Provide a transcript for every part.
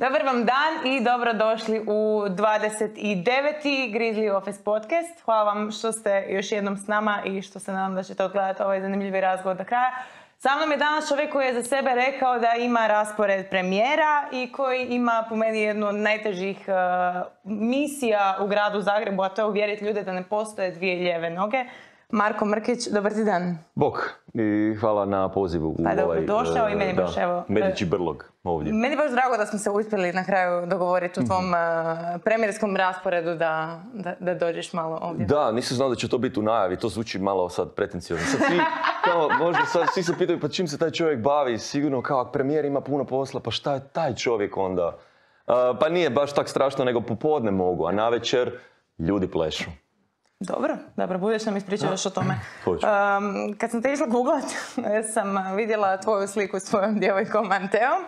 Dobar vam dan i dobrodošli u 29. Grizzly Office podcast. Hvala vam što ste još jednom s nama i što se nadam da ćete odgledati ovaj zanimljivi razgovor do kraja. Sa mnom je danas čovjek koji je za sebe rekao da ima raspored premijera i koji ima po meni jednu od najtežih misija u gradu Zagrebu, a to je uvjeriti ljude da ne postoje dvije lijeve noge. Marko Mrkić, dobar ti dan. Bok i hvala na pozivu. Pa dobro došao i meni baš evo... Medići brlog ovdje. Meni baš drago da smo se uspjeli na kraju dogovoriti u tvom premijerskom rasporedu da dođeš malo ovdje. Da, nisam znao da će to biti u najavi, to zvuči malo sad pretenciozno. Sad svi, možda sad svi se pitaju pa čim se taj čovjek bavi, sigurno kao premijer ima puno posla, pa šta je taj čovjek onda? Pa nije baš tak strašno, nego popodne mogu, a navečer ljudi plešu. Dobro, budeš nam ispričao još o tome. Kad sam te išla googlat, sam vidjela tvoju sliku s svojom djevojkom Anteom,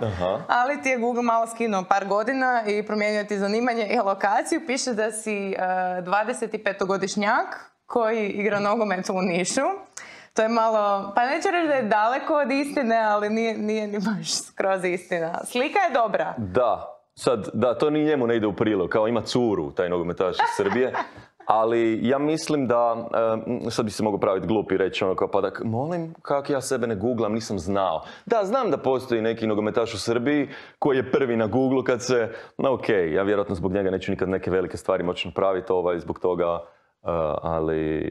ali ti je Google malo skinuo par godina i promijenio ti zanimanje i lokaciju. Piše da si 25-godišnjak koji igra nogomet u Nišu. To je malo, pa neću reći da je daleko od istine, ali nije ni baš skroz istina. Slika je dobra. Da, to ni njemu ne ide u prilog, kao ima curu, taj nogometaš iz Srbije. Ali ja mislim da, sad bi se mogao praviti glup i reći ono kao pa da molim kako ja sebe ne googlam, nisam znao. Da, znam da postoji neki nogometaš u Srbiji koji je prvi na Googlu kad se, ja vjerojatno zbog njega neću nikad neke velike stvari moći napraviti zbog toga, ali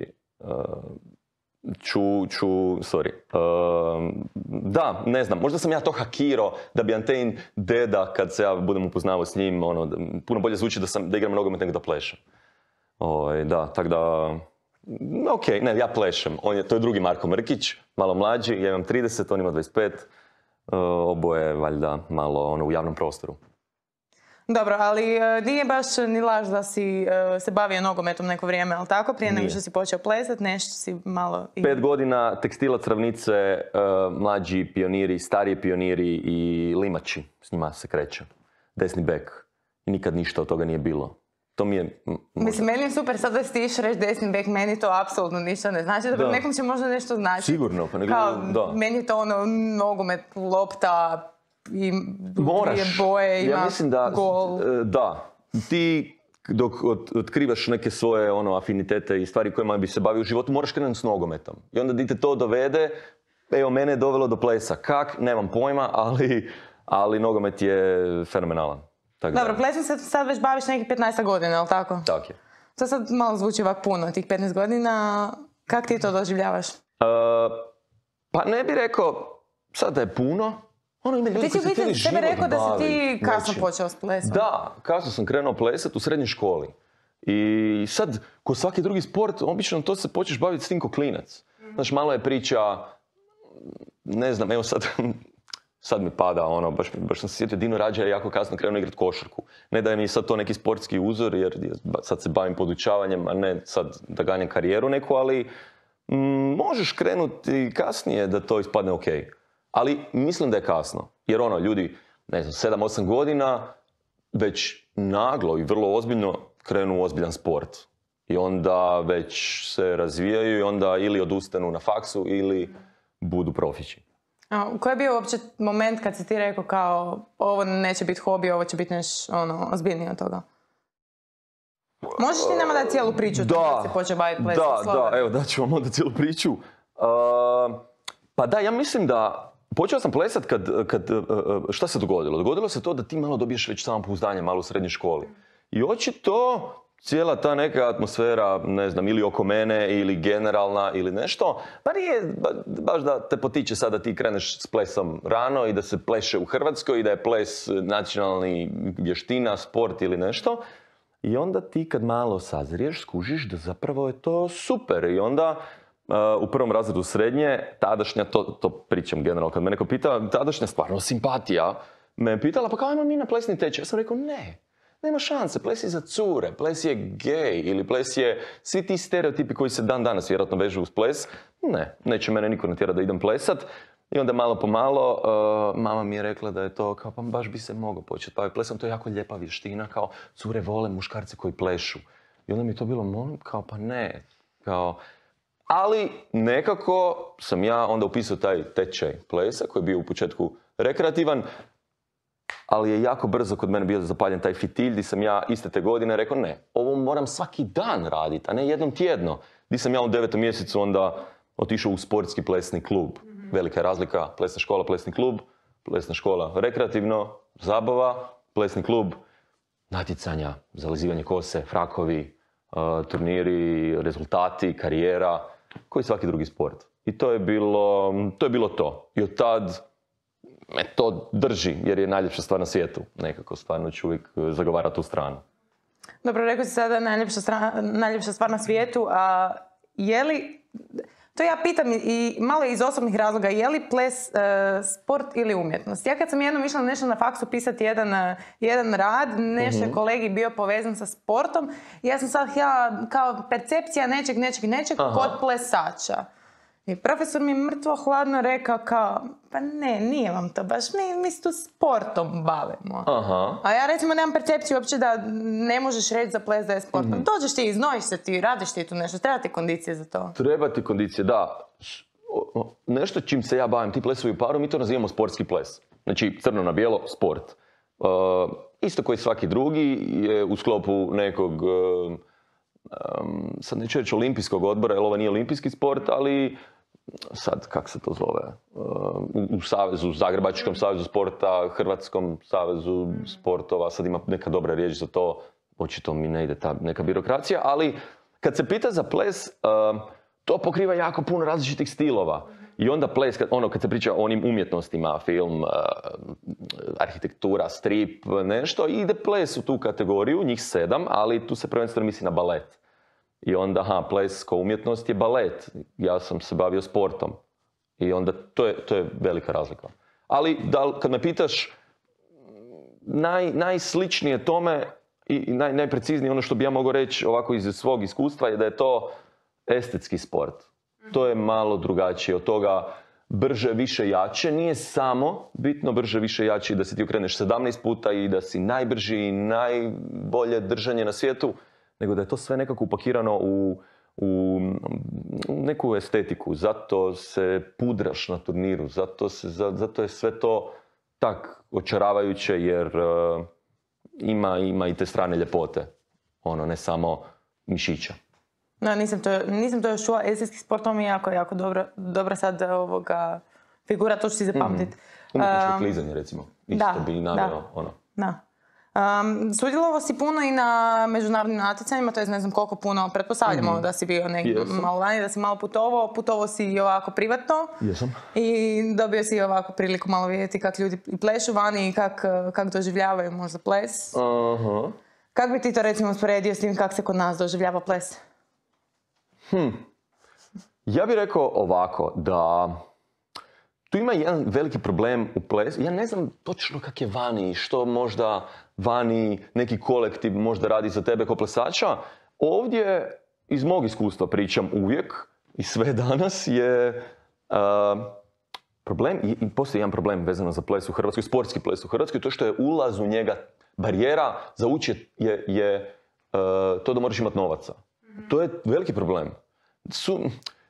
da, ne znam, možda sam ja to hakirao da bi Antein deda kad se ja budem upoznavao s njim, puno bolje zvuči da igram nogomet nego da plešem. Tako da, ja plešem. To je drugi Marko Mrkić, malo mlađi, ja imam 30, on ima 25, oboje valjda malo u javnom prostoru. Dobro, ali nije baš ni laž da si se bavio nogometom neko vrijeme, ali tako? Prije nego što si počeo plesati, nešto si malo... 5 godina tekstilac, ravnice, mlađi pioniri, stariji pioniri i limači, s njima se kreće. Desni bek. I nikad ništa od toga nije bilo. To mi je... Mislim, meni je super sad da si ti iš reći desni bek, meni to apsolutno ništa ne znači, da nekom će možda nešto znači. Sigurno, pa nego, da. Meni je to nogomet, lopta i dvije boje, ima gol. Da, ti dok otkrivaš neke svoje afinitete i stvari kojima bi se bavio u životu, moraš krenuti s nogometom. I onda di te to dovede, mene je dovelo do plesa. Kak? Nemam pojma, ali nogomet je fenomenalan. Dobro, plesom se sad već baviš nekih 15 godina, je li tako? Tako je. To sad malo zvuči ovak puno, tih 15 godina. Kako ti to doživljavaš? Pa ne bih rekao sad da je puno. Ti si u biti tebe rekao da si ti kasno počeo s plesom. Da, kasno sam krenuo plesati u srednjoj školi. I sad, ko svaki drugi sport, obično to se počneš baviti s tim ko klinac. Znaš, malo je priča, ne znam, evo sad mi pada, baš sam se sjetio, Dino Rađa je jako kasno krenuo igrati košarku. Ne da je mi sad to neki sportski uzor, jer sad se bavim podučavanjem, a ne sad da ganjam karijeru neku, ali možeš krenuti kasnije da to ispadne ok. Ali mislim da je kasno, jer ljudi, ne znam, 7-8 godina već naglo i vrlo ozbiljno krenu u ozbiljan sport. I onda već se razvijaju i onda ili odustanu na faksu ili budu profići. Koji je bio uopće moment kad si ti rekao kao ovo neće biti hobi, ovo će biti nešto ozbiljnije od toga? Možeš ti nama dati cijelu priču kad si počeo baviti plesom? Da, evo daću vam onda cijelu priču. Pa da, ja mislim da počeo sam plesat šta se dogodilo? Dogodilo se to da ti malo dobiješ već samopouzdanje malo u srednjoj školi. I očito cijela ta neka atmosfera, ne znam, ili oko mene, ili generalna, ili nešto, pa nije baš da te potiče sad da ti kreneš s plesom rano i da se pleše u Hrvatskoj i da je ples nacionalni vještina, sport ili nešto. I onda ti kad malo sazriješ, skužiš da zapravo je to super. I onda u prvom razredu srednje, tadašnja, to pričam generalno, kad me neko pita, tadašnja stvarno simpatija, me pitala pa kao imam mi na plesni tečaj. Ja sam rekao ne. Nema šanse, ples je za cure, ples je gej ili ples je svi ti stereotipi koji se dan danas vjerojatno vežu uz ples. Ne, neće mene niko natjerati da idem plesat. I onda malo po malo mama mi je rekla da je to kao pa baš bi se mogao početi baviti plesom, to je jako lijepa vještina, kao cure vole muškarci koji plešu. I onda mi je to bilo molim, kao pa ne, kao... Ali nekako sam ja onda upisao taj tečaj plesa koji je bio u početku rekreativan. ali je jako brzo kod mene bio zapaljen taj fitilj di sam ja iste te godine rekao ne, ovo moram svaki dan raditi, a ne jednom tjedno. Di sam ja u 9. mjesecu onda otišao u sportski plesni klub. Velika je razlika, plesna škola, plesni klub, plesna škola rekreativno, zabava, plesni klub, natjecanja, zalizivanje kose, frakovi, turniri, rezultati, karijera, koji svaki drugi sport. I to je bilo to. I od tad me to drži, jer je najljepša stvar na svijetu. Nekako stvarno ću uvijek zagovarati tu stranu. Dobro, rekao si sada najljepša stvar na svijetu, a je li, to ja pitam i malo iz osobnih razloga, je li ples sport ili umjetnost? Ja kad sam jednom išla nešto na faksu pisati jedan rad, nešto je kolegi bio povezan sa sportom, ja sam sad htjela kao percepcija nečeg kod plesača. I profesor mi mrtvo hladno rekao kao, pa ne, nije vam to baš, mi se tu sportom bavimo. Aha. A ja recimo nemam percepciju uopće da ne možeš reći za ples da je sport. Dođeš ti, iznojiš se ti, radiš ti tu nešto, treba ti kondicije za to. Treba ti kondicije, da. Nešto čim se ja bavim, ti plesovi u paru, mi to nazivamo sportski ples. Znači, crno na bijelo, sport. Isto koji svaki drugi je u sklopu nekog, sad neću reći olimpijskog odbora, jer ovo nije olimpijski sport, ali sad, kak se to zove, u savezu, Zagrebačkom savezu sporta, Hrvatskom savezu sportova, sad ima neka dobra riječ za to, očito mi ne ide ta neka birokracija, ali kad se pita za ples, to pokriva jako puno različitih stilova. I onda ples, kad se priča o onim umjetnostima, film, arhitektura, strip, nešto, ide ples u tu kategoriju, njih 7, ali tu se prvenstveno misli na balet. I onda, ples kao umjetnost je balet. Ja sam se bavio sportom. I onda to je velika razlika. Ali kad me pitaš, najsličnije tome i najpreciznije ono što bi ja mogao reći ovako iz svog iskustva je da je to estetski sport. To je malo drugačije od toga brže, više, jače. Nije samo bitno brže, više, jače i da se ti okreneš 17 puta i da si najbrži i najbolje držanje na svijetu, nego da je to sve nekako upakirano u neku estetiku. Zato se pudraš na turniru, zato je sve to tak očaravajuće jer ima i te strane ljepote. Ne samo mišića. No, nisam to još čula. Estetski sport, to mi je jako dobro sad figura, to ću si zapamtiti. Umjetničko klizanje, recimo. Isto bi naveo ono. Da. Sudjelovao si puno i na međunarodnim natjecanjima, to je ne znam koliko puno, pretpostavljamo da si bio negdje malo vani, da si malo putovao si i ovako privatno. Jesam. I dobio si ovako priliku malo vidjeti kako ljudi plešu vani i kako doživljavaju možda ples. Aha. Kako bi ti to recimo usporedio s tim kako se kod nas doživljava ples? Ja bih rekao ovako, da tu ima jedan veliki problem u plesu. Ja ne znam točno kak je vani, što možda vani neki kolektiv možda radi za tebe kao plesača. Ovdje, iz mog iskustva pričam uvijek i sve danas, je problem, i postoji jedan problem vezano za ples u Hrvatskoj, sportski ples u Hrvatskoj, to što je ulaz u njega barijera za ući je to da moraš imati novaca. To je veliki problem.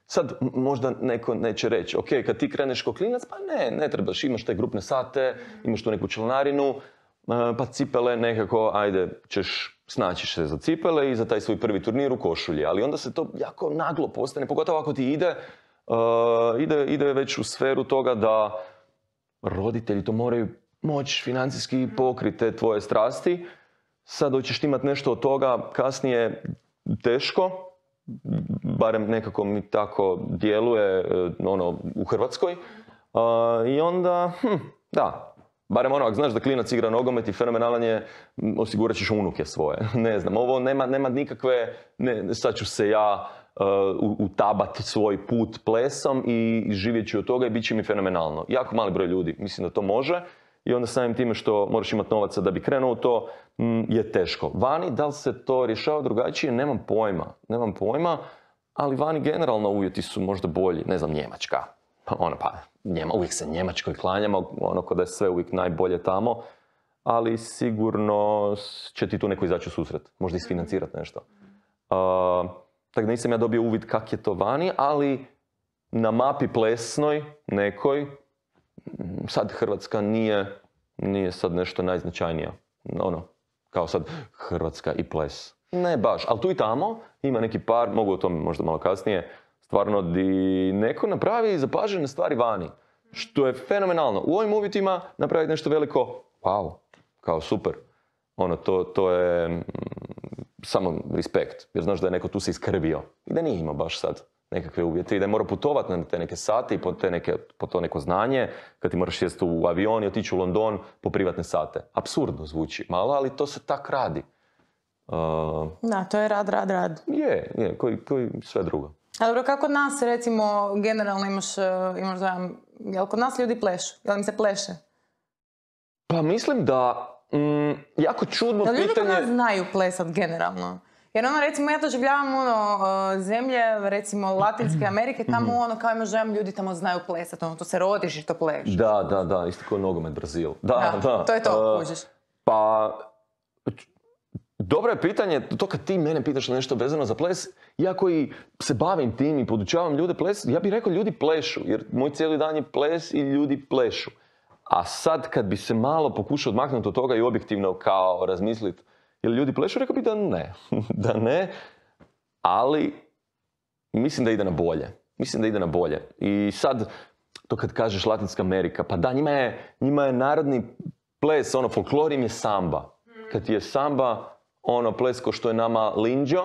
Sad možda neko neće reći, ok, kad ti kreneš kao klinac, pa ne trebaš, imaš te grupne sate, imaš tu neku članarinu, pa cipele nekako, ajde, snaći se za cipele i za taj svoj prvi turnir u košulji. Ali onda se to jako naglo postane, pogotovo ako ti ide već u sferu toga da roditelji to moraju moći financijski pokriti te tvoje strasti. Sad hoćeš imati nešto od toga, kasnije teško, barem nekako mi tako djeluje u Hrvatskoj. I onda, barem ako znaš da klinac igra nogomet i fenomenalan je, osigurat ćeš unuke svoje. Ne znam, ovo nema nikakve, sad ću se ja utabati svoj put plesom i živjet ću od toga i bit će mi fenomenalno. Jako mali broj ljudi mislim da to može. I onda samim time što moraš imati novaca da bi krenuo u to, je teško. Vani, da li se to rješava drugačije, nemam pojma, ali vani generalno uvjeti su možda bolji. Ne znam, Njemačka. Uvijek se Njemačkoj klanjamo, ko da je sve uvijek najbolje tamo, ali sigurno će ti tu neko izaći u susret, možda isfinancirati nešto. Tako da nisam ja dobio uvid kak je to vani, ali na mapi plesnoj nekoj, sad Hrvatska nije nije sad nešto najznačajnija. Ono, kao sad Hrvatska i ples. Ne baš, ali tu i tamo ima neki par, mogu o tome možda malo kasnije, stvarno di neko napravi zapažene stvari vani. Što je fenomenalno. U ovim uvjetima napraviti nešto veliko, wow, kao super. Ono, to je samo respekt. Jer znaš da je neko tu se iskrbio. I da nije imao baš sad nekakve uvjete. I da je morao putovati na te neke sate i po to neko znanje. Kad ti moraš sjesti u avion i otići u London po privatne sate. Apsurdno zvuči malo, ali to se tak radi. Da, to je rad. Je, koji sve drugo. A dobro, kako kod nas, recimo, generalno imaš dojam, jel kod nas ljudi plešu? Jel im se pleše? Pa mislim da, jako čudno pitanje... Da ljudi kod nas znaju plesat generalno? Jer ono, recimo, ja doživljavam zemlje, recimo, Latinske Amerike, tamo kao imaš dojam, ljudi tamo znaju plesat, to se rodiš i to pleš. Da, isto kao nogomet Brazil. Da. To je to, kužiš. Pa... Dobro je pitanje, to kad ti mene pitaš nešto vezano za ples, ja koji se bavim tim i podučavam ljude ples, ja bih rekao ljudi plešu, jer moj cijeli dan je ples i ljudi plešu. A sad kad bi se malo pokušao odmaknuti od toga i objektivno kao razmisliti, jel ljudi plešu, rekao bih da ne. Da ne, ali mislim da ide na bolje. I sad, to kad kažeš Latinska Amerika, pa da, njima je narodni ples, folklor im je samba. Kad ti je samba, ples ko što je nama linđo,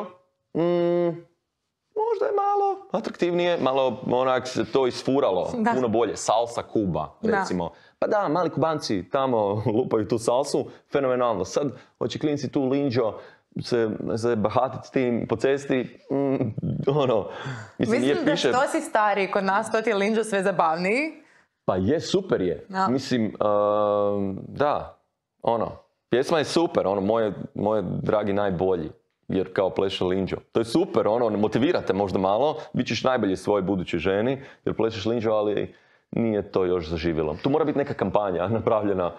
možda je malo atraktivnije, malo onak se to isfuralo, puno bolje. Salsa Kuba, recimo. Da. Pa da, mali Kubanci tamo lupaju tu salsu, fenomenalno. Sad hoće klinci tu linđo se bahatiti s tim po cesti, Mislim da što si stariji kod nas, to ti je linđo sve zabavniji. Pa je, super je. No. Mislim, da, pjesma je super, moje dragi najbolji, jer kao pleše linđo. To je super, motivirate možda malo, bit ćeš najbolji svojoj budućoj ženi, jer plešeš linđo, ali nije to još zaživjelo. Tu mora biti neka kampanja napravljena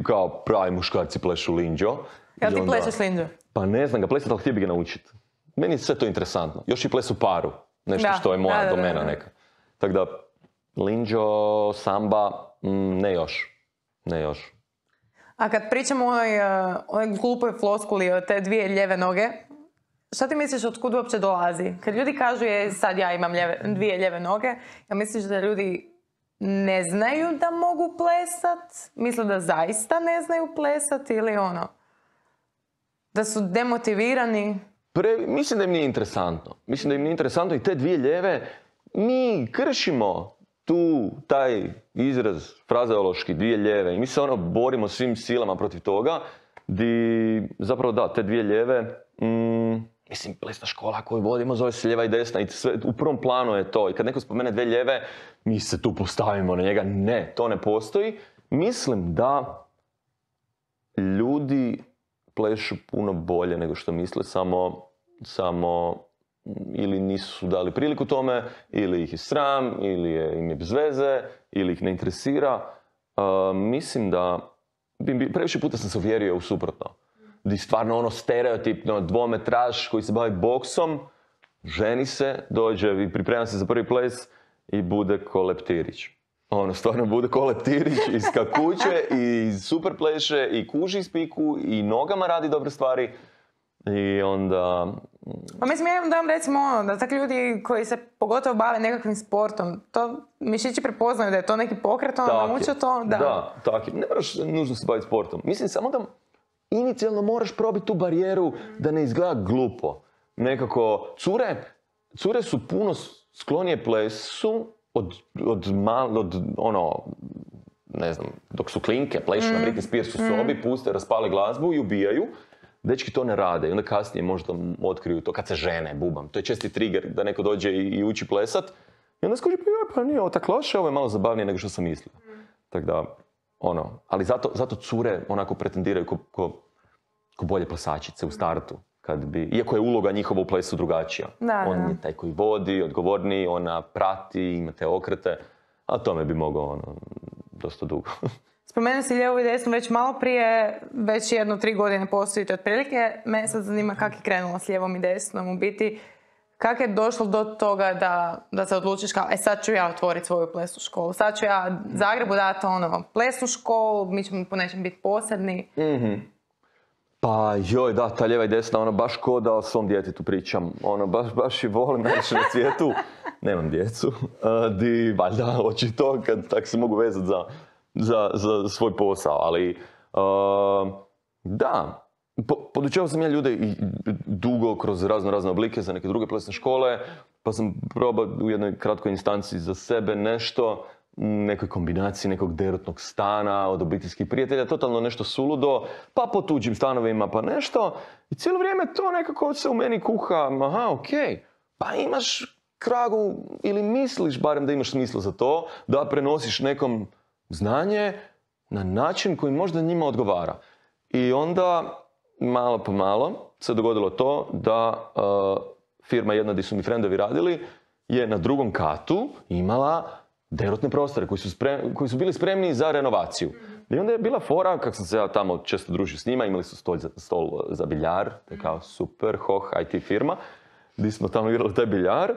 kao pravi muškarci plešu linđo. Jel ti plešeš linđo? Pa ne znam ga plesati, ali htio bi ga naučiti. Meni je sve to interesantno. Još i ples u paru, nešto što je moja domena neka. Tako da, linđo, samba, ne još. A kad pričamo o onoj glupoj floskuli o te dvije lijeve noge, šta ti misliš od kud uopće dolazi? Kad ljudi kažu sad ja imam dvije lijeve noge, ja misliš da ljudi ne znaju da mogu plesat? Misle da zaista ne znaju plesat ili da su demotivirani? Mislim da im nije interesantno. I te dvije lijeve mi kršimo taj izraz frazeološki, dvije lijeve. I mi se borimo svim silama protiv toga. Zapravo da, te dvije lijeve, mislim, plesna škola koju vodimo zove se lijeva i desna i sve, u prvom planu je to. I kad neko spomene dvije lijeve, mi se tu postavimo na njega. Ne, to ne postoji. Mislim da ljudi plešu puno bolje nego što misle, samo ili nisu dali priliku tome, ili ih je sram, ili im je bez veze, ili ih ne interesira. Mislim da previše puta sam se uvjerio u suprotno. Di stvarno stereotipno dvometraš koji se bavi boksom, ženi se, dođe i priprema se za prvi ples i bude ko Leptirić. Stvarno bude ko Leptirić, iskakuće i super pleše i kuži iz piku i nogama radi dobre stvari. I onda... Pa mislim, ja imam recimo da tak ljudi koji se pogotovo bave nekakvim sportom, to mišići prepoznaju da je to neki pokret, nauče to, da. Da, tako je. Ne moraš nužno se baviti sportom. Mislim, samo da inicijalno moraš probiti tu barijeru da ne izgleda glupo. Nekako, cure su puno sklonije plesu ne znam, dok su klinke, plešu na Britney Spears u sobi, puste, raspale glazbu i ubijaju. Dečki to ne rade i onda kasnije možda otkriju to kad se žene, bubam. To je česti trigger da neko dođe i uči plesat. I onda skuži, pa nije ovo tako loše, ovo je malo zabavnije nego što sam mislio. Tako da, ali zato cure onako pretendiraju ko bolje plesačice u startu. Iako je uloga njihova u plesu drugačija. On je taj koji vodi, odgovorniji, ona prati, ima te okrete. A tome bi mogao dosta dugo. Spomenuo si lijevu i desnu već malo prije, već 1-3 godine postojite otprilike. Mene sad zanima kako je krenulo s lijevom i desnom. U biti, Kako je došlo do toga da se odlučiš kao, sad ću ja otvoriti svoju plesnu školu, sad ću ja Zagrebu dati plesnu školu, mi ćemo po nečem biti posebni. Pa joj, da, ta lijeva i desna, baš ko da o svom djetetu pričam. Baš i volim najviše na svijetu. Nemam djecu. Valjda, očito, kad tako se mogu vezati za svoj posao. Ali, da, podučavao sam ja ljude i dugo kroz razne oblike za neke druge plesne škole, pa sam probao u jednoj kratkoj instanci za sebe nešto, nekoj kombinaciji nekog derutnog stana od obiteljskih prijatelja, totalno nešto suludo, pa po tuđim stanovima pa nešto. I cijelo vrijeme to nekako se u meni kuha, aha, okej, pa imaš kragu ili misliš barem da imaš smisla za to, da prenosiš nekom znanje na način koji možda njima odgovara. I onda, malo po malo, se dogodilo to da firma jedna gdje su mi frendovi radili je na drugom katu imala derutne prostore koji su bili spremni za renovaciju. I onda je bila fora, kako sam se ja tamo često družio s njima, imali su stol za biljar, to je kao super, IT firma, gdje smo tamo igrali taj biljar,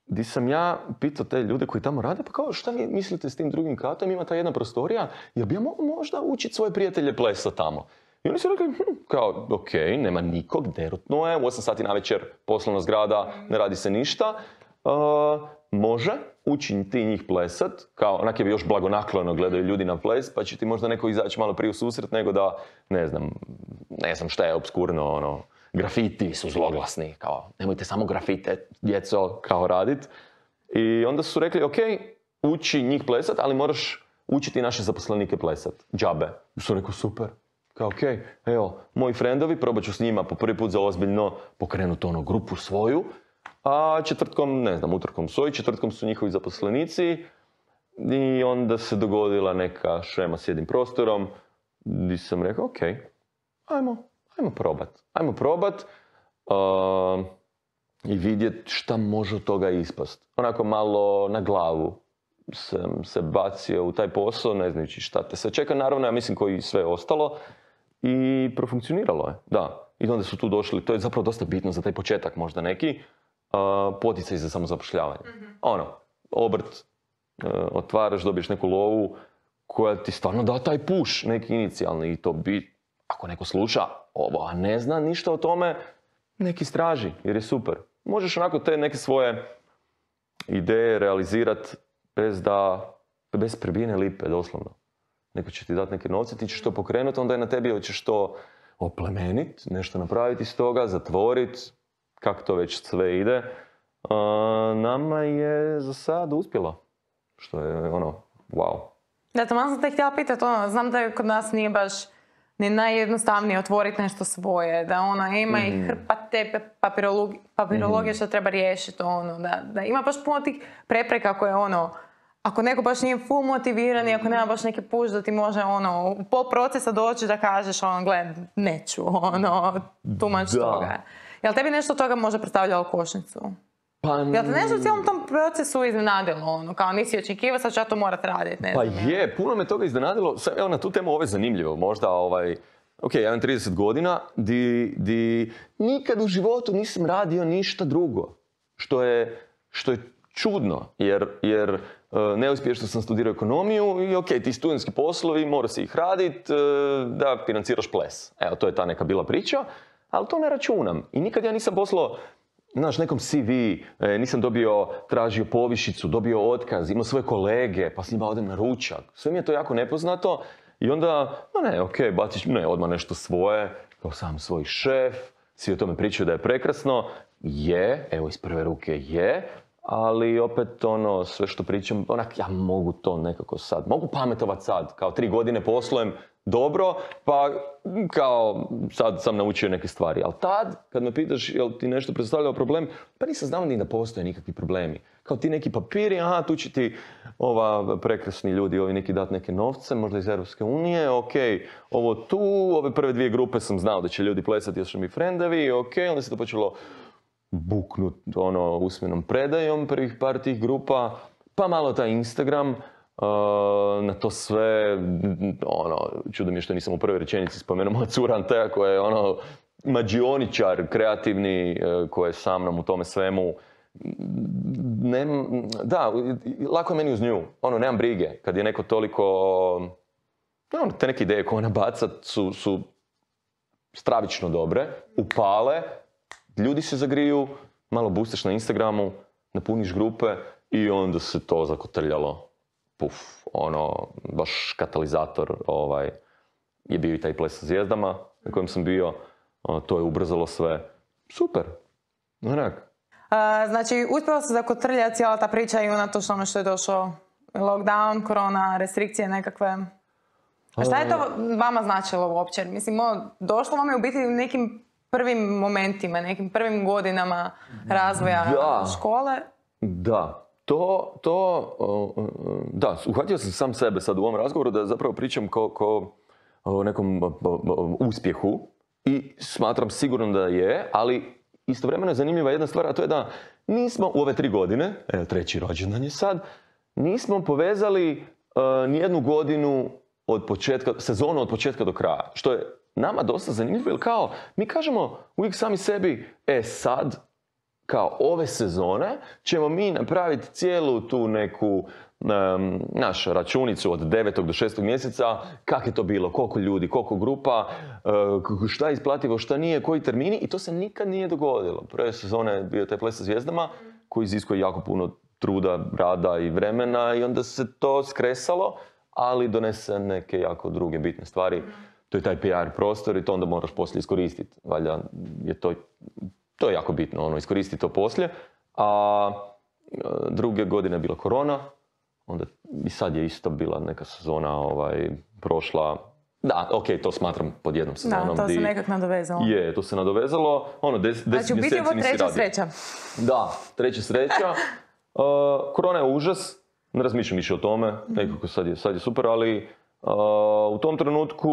gdje sam ja pitao te ljude koji tamo rade, pa kao šta vi mislite s tim drugim katom, ima ta jedna prostorija, jel bi ja mogao možda učiti svoje prijatelje plesa tamo? I oni su rekli, kao, okej, nema nikog, derutno je, u 8 sati navečer, poslovna zgrada, ne radi se ništa. Može, uči ti njih plesat, kao onak je bi još blagonaklono gledaju ljudi na ples, pa će ti možda neko izaći malo prije u susret nego da, ne znam šta je obskurno, grafiti su zloglasni, kao, nemojte samo grafite, djeco, kao radit. I onda su rekli, okej, uči njih plesat, ali moraš učiti naše zaposlenike plesat, džabe. I su rekli, super. Kao, okej, evo, moji frendovi, probat ću s njima po prvi put za ozbiljno pokrenuti grupu svoju, a utorkom svoji, četvrtkom su njihovi zaposlenici i onda se dogodila neka šema s jednim prostorom gdje sam rekao, okej, ajmo probat i vidjeti šta može od toga ispast. Onako malo na glavu sam se bacio u taj posao, ne znajući šta te sve čeka, naravno, ja mislim koji sve ostalo. I profunkcioniralo je, da. I onda su tu došli, to je zapravo dosta bitno za taj početak možda neki, poticaj za samozapošljavanje. Obrt, otvaraš, dobiješ neku lovu koja ti stvarno da taj push, neki inicijalni, i to bi, ako neko sluša ovo, a ne zna ništa o tome, neki istraži, jer je super. Možeš onako te neke svoje ideje realizirati bez prebijene lipe, doslovno. Neko će ti dati neke novce, ti ćeš to pokrenuti, onda je na tebi hoćeš to oplemeniti, nešto napraviti iz toga, zatvoriti, kako to već sve ide. Nama je za sad uspjelo, što je wow. Da, to malo sam te htjela pitati, znam da kod nas nije baš ni najjednostavnije otvoriti nešto svoje, da ima i hrpa te papirologije što treba riješiti, da ima baš puno tih prepreka koje ako neko baš nije full motiviran i ako nema baš neki push da ti može u pol procesa doći da kažeš gled, neću, tumač toga. Jel tebi nešto od toga možda predstavljalo kočnicu? Jel te nešto u cijelom tom procesu iznenadilo? Kao nisi očekivao, sad ću ja to morat raditi. Puno me toga iznenadilo. Evo, na tu temu ovo je zanimljivo. Možda, ja imam 30 godina, di nikad u životu nisam radio ništa drugo. Što je čudno, jer neuspješno sam studirao ekonomiju i ti studentski poslovi, mora se ih radit, da financiraš ples. Evo, to je ta neka bila priča, ali to ne računam. I nikad ja nisam poslao, nekom CV, nisam tražio povišicu, dobio otkaz, imao svoje kolege, pa s njima odem na ručak. Sve mi je to jako nepoznato i onda, baciš odmah nešto svoje, kao sam svoj šef, svi o tome pričaju da je prekrasno. Evo iz prve ruke je, ali opet sve što pričam, ja mogu to nekako sad, mogu pametovat sad, kao 3 godine poslujem dobro, pa kao sad sam naučio neke stvari. Ali tad, kad me pitaš jel ti nešto predstavljao problem, pa nisam znao ni da postoje nikakvi problemi. Kao ti neki papiri, tu će ti prekrasni ljudi, ovi neki dati neke novce, možda iz Europske unije, ovo tu, ove prve 2 grupe sam znao da će ljudi plesati, jer su mi frendovi, onda se to počelo buknut usmenom predajom prvih par tih grupa, pa malo taj Instagram, na to sve, čudo mi je što nisam u prvoj rečenici spomenuo moja cura Anteja koja je mađioničar kreativni koji je sa mnom u tome svemu. Da, lako je meni uz nju. Nemam brige. Kad je neko toliko... te neke ideje koje ona baca su stravično dobre, upale, ljudi se zagriju, malo boostaš na Instagramu, napuniš grupe i onda se to zakotrljalo. Puf, baš katalizator je bio i taj ples sa zvijezdama na kojem sam bio. To je ubrzalo sve. Super. Onak. Znači, uspjela se zakotrljati cijela ta priča i unatoč ono što je došao lockdown, korona, restrikcije nekakve. A šta je to vama značilo uopće? Mislim, došlo vam je u biti u nekim prvim momentima, nekim prvim godinama razvoja škole? Da. Da, uhvatio sam sam sebe sad u ovom razgovoru da zapravo pričam ko o nekom uspjehu i smatram sigurno da je, ali istovremeno je zanimljiva jedna stvar, a to je da nismo u ove 3 godine, evo 3. rođendan je sad, nismo povezali nijednu godinu od početka, sezonu od početka do kraja. Što je nama dosta zanimljivo, jer kao mi kažemo uvijek sami sebi, sad, kao ove sezone, ćemo mi napraviti cijelu tu neku našu računicu od 9. do 6. mjeseca, kak je to bilo, koliko ljudi, koliko grupa, šta je isplativo, šta nije, koji termini, i to se nikad nije dogodilo. Prve sezone je bio taj ples sa zvijezdama, koji iziskuje jako puno truda, rada i vremena, i onda se to skresalo, ali donese neke jako druge bitne stvari. To je taj PR prostor i to onda moraš poslije iskoristiti. Valjda je to je jako bitno, iskoristiti to poslije. A druge godine je bila korona, onda i sad je isto bila neka sezona prošla. Da, to smatram pod jednom sezonom. Da, to se nekak nadovezalo. Je, to se nadovezalo. 10 mjeseci nisi radio. Znači, u biti je ovo 3. sreća. Da, 3. sreća. Korona je užas. Ne razmišljam više o tome, nekako sad je super, ali u tom trenutku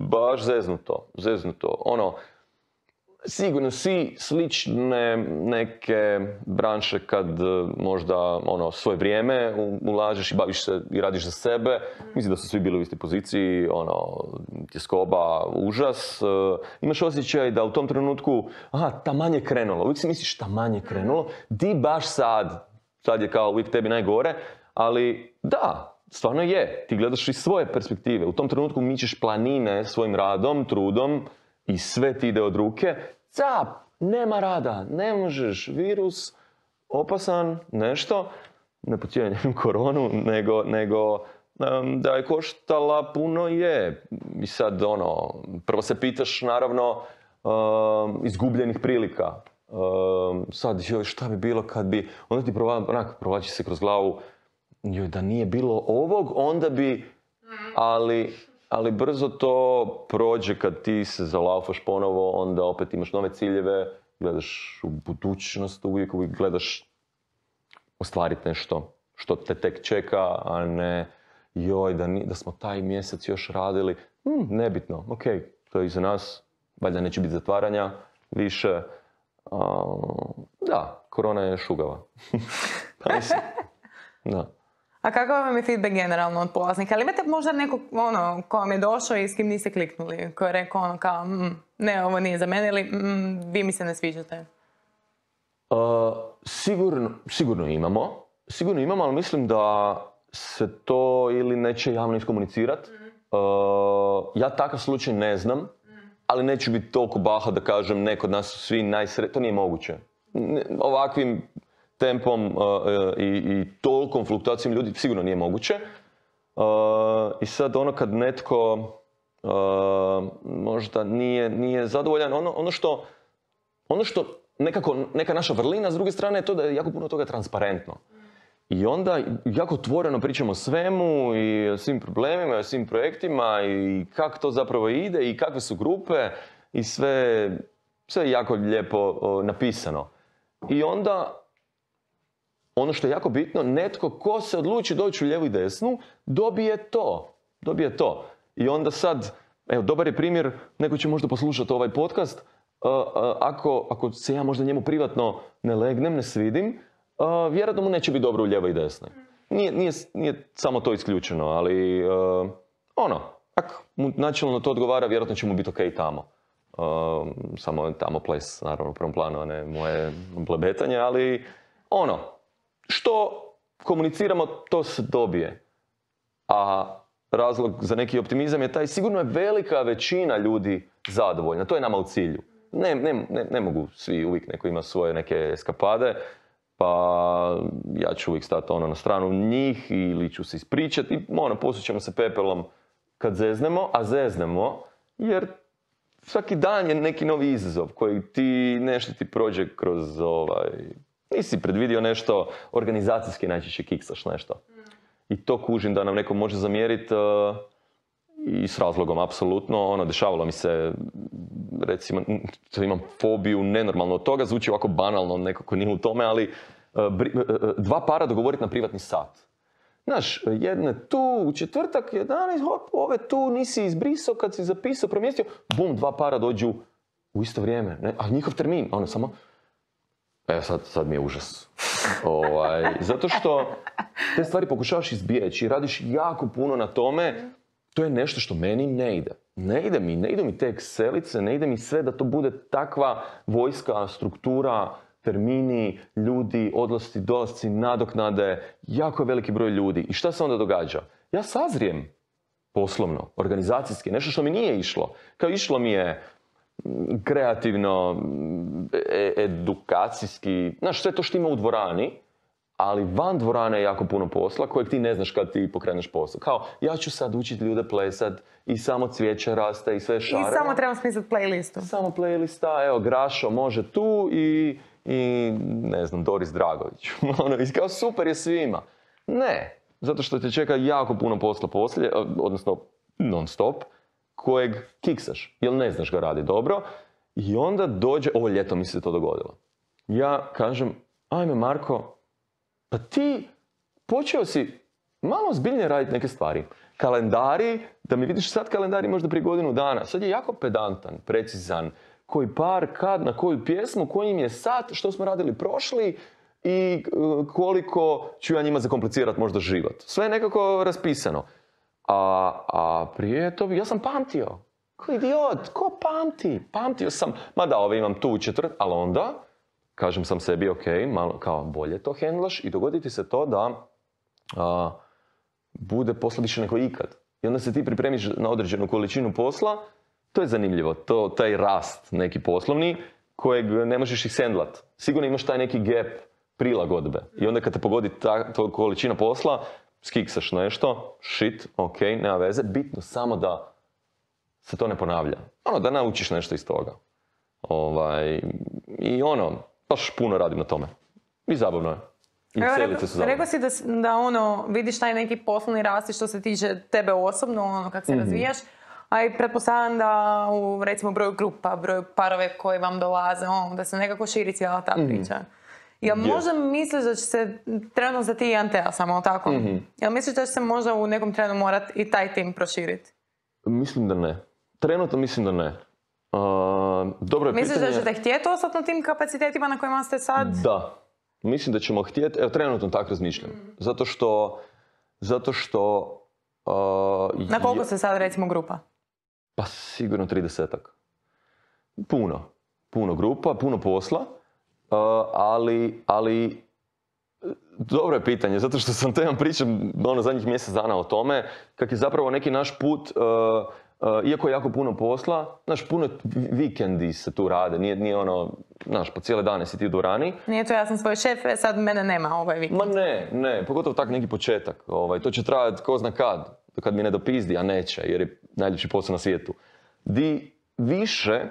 baš zeznuto. Sigurno svi slične neke branše kad možda svoje vrijeme ulažeš i baviš se i radiš za sebe. Mislim da su svi bili u istoj poziciji, tjeskoba, užas. Imaš osjećaj da u tom trenutku, taman je krenulo. Uvijek si misliš taman je krenulo, di baš sad je kao uvijek tebi najgore, ali da, stvarno je. Ti gledaš iz svoje perspektive. U tom trenutku mičeš planine svojim radom, trudom i sve ti ide od ruke. Cap, nema rada, ne možeš, virus, opasan, nešto. Ne podcjenjujem koronu, nego da je koštala puno je. I sad prvo se pitaš naravno izgubljenih prilika. Sad, šta bi bilo kad bi, onda ti provlači se kroz glavu, da nije bilo ovog, onda bi, ali brzo to prođe kad ti se zalaufaš ponovo, onda opet imaš nove ciljeve, gledaš u budućnost, uvijek gledaš ostvariti nešto što te tek čeka, a ne da smo taj mjesec još radili, nebitno, to je iza nas, valjda neće biti zatvaranja više. Da, korona je šugava. Pa mislim, da. A kakav vam je feedback generalno od polaznika? Ali imate možda nekog ko vam je došao i s kim niste kliknuli? Ko je rekao kao, ne, ovo nije za mene, ili vi mi se ne sviđate? Sigurno imamo, ali mislim da se to ili neće javno iskomunicirati. Ja takav slučaj ne znam, ali neću biti toliko baha da kažem ne, kod nas su svi najsretniji. To nije moguće. Ovakvim tempom i tolikom fluktuacijom ljudi sigurno nije moguće. I sad kad netko možda nije zadovoljan, ono što neka naša vrlina, s druge strane je to da je jako puno toga transparentno. I onda jako otvoreno pričamo o svemu i o svim problemima, i o svim projektima i kako to zapravo ide i kakve su grupe i sve je jako lijepo napisano. I onda, ono što je jako bitno, netko ko se odluči doći u lijevu i desnu, dobije to. I onda sad, evo, dobar je primjer, neko će možda poslušati ovaj podcast, ako se ja možda njemu privatno ne legnem, ne svidim, vjerojatno mu neće biti dobro u lijevoj i desnoj. Nije samo to isključeno, ali ako mu načelno to odgovara, vjerojatno će mu biti okej tamo. samo tamo ples, naravno, u prvom planu, a ne moje blebetanje, ali što komuniciramo, to se dobije. A razlog za neki optimizam je taj, sigurno je velika većina ljudi zadovoljna, to je nama u cilju. Ne mogu svi, uvijek neko ima svoje neke eskapade, pa ja ću uvijek stati na stranu njih ili ću se ispričati i posućemo se pepelom kad zeznemo, a zeznemo jer svaki dan je neki novi izazov koji nešto ti prođe kroz nisi predvidio nešto, organizacijski najčešće kiksaš nešto. I to kužim da nam neko može zamjeriti i s razlogom, apsolutno. Dešavalo mi se, recimo, imam fobiju nenormalno od toga, zvuči ovako banalno, nekako nije u tome, ali 2 para dogovoriti na privatni sat. Znaš, jedne tu, u četvrtak, 11, hop, ove tu nisi izbrisao kad si zapisao, promjestio, bum, 2 para dođu u isto vrijeme, ne? A njihov termin, samo... Sad mi je užas. Zato što te stvari pokušavaš izbjeći i radiš jako puno na tome, to je nešto što meni ne ide. Ne idu mi te Excelice, ne ide mi sve da to bude takva vojska, struktura, termini, ljudi, odlasci, dolasci, nadoknade, jako je veliki broj ljudi. I šta se onda događa? Ja sazrijem poslovno, organizacijski, nešto što mi nije išlo. Kao išlo mi je kreativno, edukacijski, znaš, sve to što ima u dvorani, ali van dvorane je jako puno posla kojeg ti ne znaš kad ti pokreneš posao. Kao, ja ću sad učiti ljude plesat i samo cvijeće raste i sve šare. I samo trebam smisliti playlistu. Samo playlista, evo, Grašo može tu i ne znam, Doris Dragović. I kao, super je svima. Ne, zato što te čeka jako puno posla poslije, odnosno non stop, kojeg kiksaš, jer ne znaš ga radi dobro. I onda dođe, ovo ljeto mi se to dogodilo. Ja kažem, ajme Marko, pa ti počeo si malo zbiljnije raditi neke stvari. Kalendari, da mi vidiš sad kalendari možda prije godinu dana. Sad je jako pedantan, precizan. Koji par, kad, na koju pjesmu, koji im je sat, što smo radili prošli i koliko ću ja njima zakomplicirati možda život. Sve je nekako raspisano. A prije to ja sam pamtio. Ko idiot, ko pamti? Pamtio sam, mada ove imam tu u četvrt, ali onda kažem sam sebi, ok, malo kao bolje to hendlaš i dogoditi se to da bude posla više nego ikad. I onda se ti pripremiš na određenu količinu posla, to je zanimljivo, taj rast neki poslovni kojeg ne možeš ih hendlat. Sigurno imaš taj neki gap prilagodbe. I onda kad te pogodi ta količina posla, skiksaš nešto, shit, ok, nema veze, bitno samo da se to ne ponavlja. Da naučiš nešto iz toga. I baš puno radim na tome. I zabavno je. I celice su zabavne. Rekao si da vidiš taj neki poslovni rast što se tiče tebe osobno, kako se razvijaš, a i pretpostavljam da u, recimo, broju grupa, broju parove koji vam dolaze, da se nekako širi cijela ta priča. Jel možda misliš da će se, trenutno za ti Antea samo, tako? Jel misliš da će se možda u nekom trenu morati i taj tim proširiti? Mislim da ne. Trenutno mislim da ne. Dobro je misliš pitanje... da ćete htjeti ostati na tim kapacitetima na kojima ste sad? Da. Mislim da ćemo htjeti, evo trenutno tako razmišljam. Zato što... Na koliko ste sad, recimo, grupa? Pa sigurno 30-ak. Puno grupa, puno posla. Ali dobro je pitanje, zato što sam te pričam zadnjih mjesec dana o tome, kak je zapravo neki naš put, iako je jako puno posla, puno vikendi se tu rade, nije po cijele dane si ti u dvorani. Nije to ja sam svoj šef, sad mene nema ovaj vikend. Ma ne, pogotovo tak neki početak, to će trajati ko zna kad mi ne dopizdi, a neće, jer je najljepši posao na svijetu. Di više,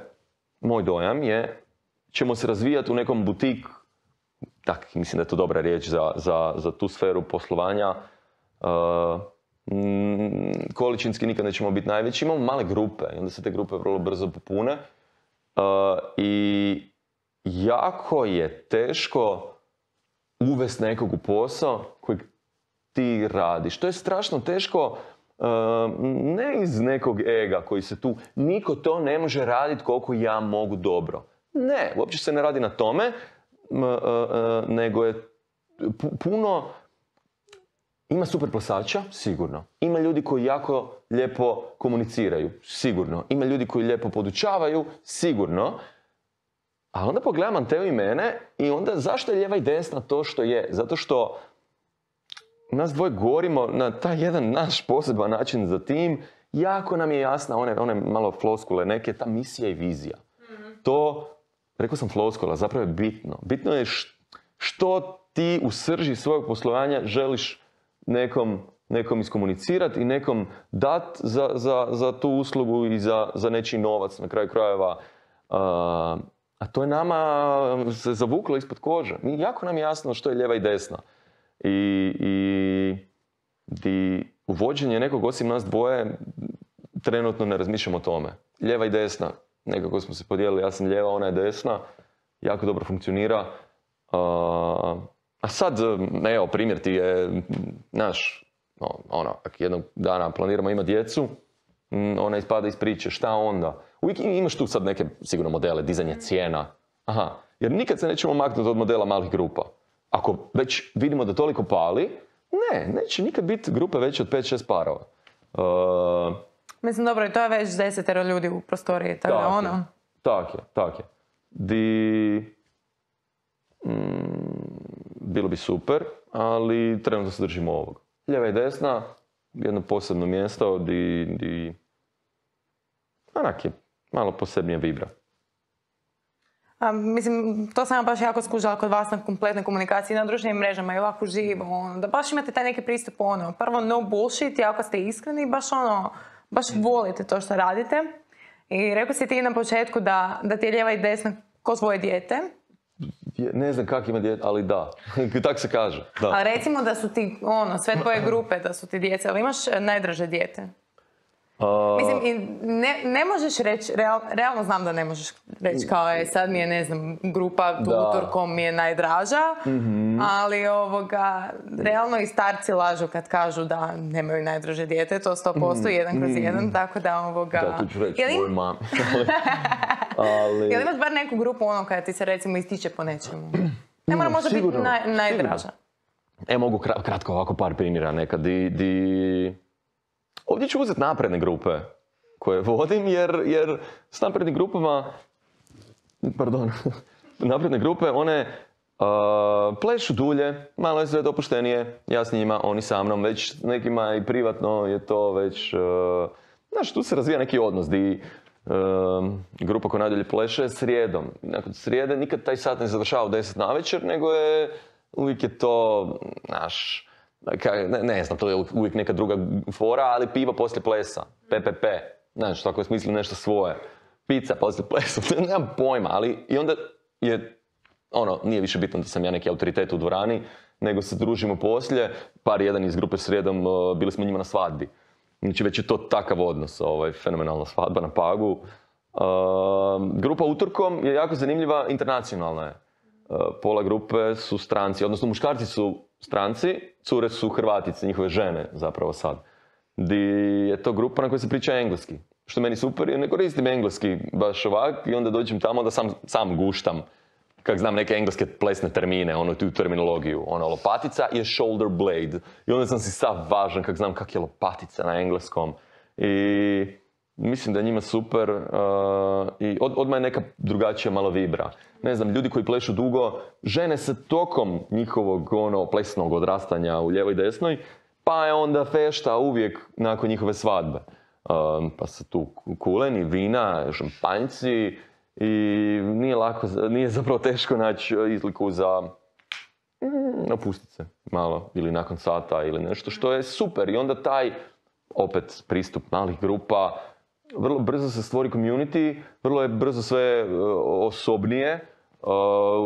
moj dojam je, ćemo se razvijati u nekom butik, tak, mislim da je to dobra riječ za tu sferu poslovanja. Količinski nikad nećemo biti najveći, imamo male grupe i onda se te grupe vrlo brzo popune. I jako je teško uvesti nekog u posao kojeg ti radiš. To je strašno teško, ne iz nekog ega koji se tu, niko to ne može raditi koliko ja mogu dobro. Ne, uopće se ne radi na tome, nego je puno Ima super plesača, sigurno. Ima ljudi koji jako lijepo komuniciraju, sigurno. Ima ljudi koji lijepo podučavaju, sigurno. A onda pogledam Anteu i mene i onda zašto je lijeva i desna to što je? Zato što nas dvoje govorimo na taj jedan naš poseban način za tim. Jako nam je jasna, one malo floskule neke, ta misija i vizija. To, rekao sam floskula, zapravo je bitno. Bitno je što ti u srži svojeg poslovanja želiš nekom iskomunicirati i nekom dati za tu uslugu i za nečiji novac na kraju krajeva. A to je nama se zavuklo ispod kože. Jako nam je jasno što je lijeva i desna. I uvođenje nekog osim nas dvoje trenutno ne razmišljamo o tome. Lijeva i desna, nekako smo se podijelili, ja sam lijeva, ona je desna, jako dobro funkcionira. A sad, evo, primjer ti je, znaš, ako jednog dana planiramo imati djecu, ona ispada iz priče, šta onda? Uvijek imaš tu sad neke, sigurno, modele, dizanje cijena. Aha, jer nikad se nećemo maknuti od modela malih grupa. Ako već vidimo da toliko pali, neće nikad biti grupe veće od 5-6 parova. Mislim, dobro, i to je već 10 ljudi u prostoriji, tako da ono... Tak je. Bilo bi super, ali trenutno se držimo ovog. Lijeva i desna, jedno posebno mjesto di onak je malo posebnije vibra. Mislim, to sam baš jako skužila kod vas na kompletnoj komunikaciji na društvenim mrežama i ovako živo, da baš imate taj neki pristup, prvo no bullshit, jako ste iskreni, baš volite to što radite. I rekao si ti na početku da ti je lijeva i desna ko svoje dijete. Ne znam kak ima dijete, ali da. Tak se kaže. Da. A recimo da su ti, sve tvoje grupe da su ti djece, ali imaš najdraže dijete? Mislim, ne možeš reći, realno znam da ne možeš reći kao sad mi je, ne znam, grupa utorkom mi je najdraža, ali realno i starci lažu kad kažu da nemaju najdraže dijete, to 100% 1/1, tako da Da, tu ću reći svojoj mami. Jel imaš bar neku grupu kada ti se recimo ističe po nečemu? Ne mora možda biti najdraža. Mogu kratko ovako par primjera nekad. Ovdje ću uzeti napredne grupe koje vodim, jer s naprednim grupama, napredne grupe, one plešu dulje, malo je sve dopuštenije, ja s njima, oni sa mnom, već nekima i privatno je to već, znaš, tu se razvija neki odnos, di grupa koja najdalje pleše srijedom. Nakon srijede nikad taj sat ne završava u 10 navečer, nego uvijek je to, znaš, ne znam, to je uvijek neka druga fora, ali pivo poslije plesa, PPP, znaš, tako je smisli nešto svoje. Pizza poslije plesa, nemam pojma, ali i onda je, nije više bitno da sam ja neki autoritet u dvorani, nego se družimo poslije, jedan iz grupe srijedom, bili smo njima na svadbi. Znači već je to takav odnos, fenomenalna svadba na Pagu. Grupa utorkom je jako zanimljiva, internacionalna je. Pola grupe su stranci, odnosno muškarci su stranci, cure su Hrvatice, njihove žene zapravo sad. Di je to grupa na kojoj se priča engleski. Što meni super, jer ne koristim engleski baš ovak i onda dođem tamo da sam guštam. Kak znam neke engleske plesne termine, tu terminologiju. Lopatica je shoulder blade. I onda sam si sav važan kak znam kak je lopatica na engleskom. I mislim da je njima super i odmah je neka drugačija malo vibra. Ne znam, ljudi koji plešu dugo, žene se tokom njihovog plesnog odrastanja u lijevoj i desnoj, pa je onda fešta uvijek nakon njihove svadbe. Pa su tu kuleni, vina, šampanjci i nije zapravo teško naći izliku za opustiti se malo ili nakon sata ili nešto što je super. I onda taj, opet, pristup malih grupa, vrlo brzo se stvori community, vrlo je brzo sve osobnije,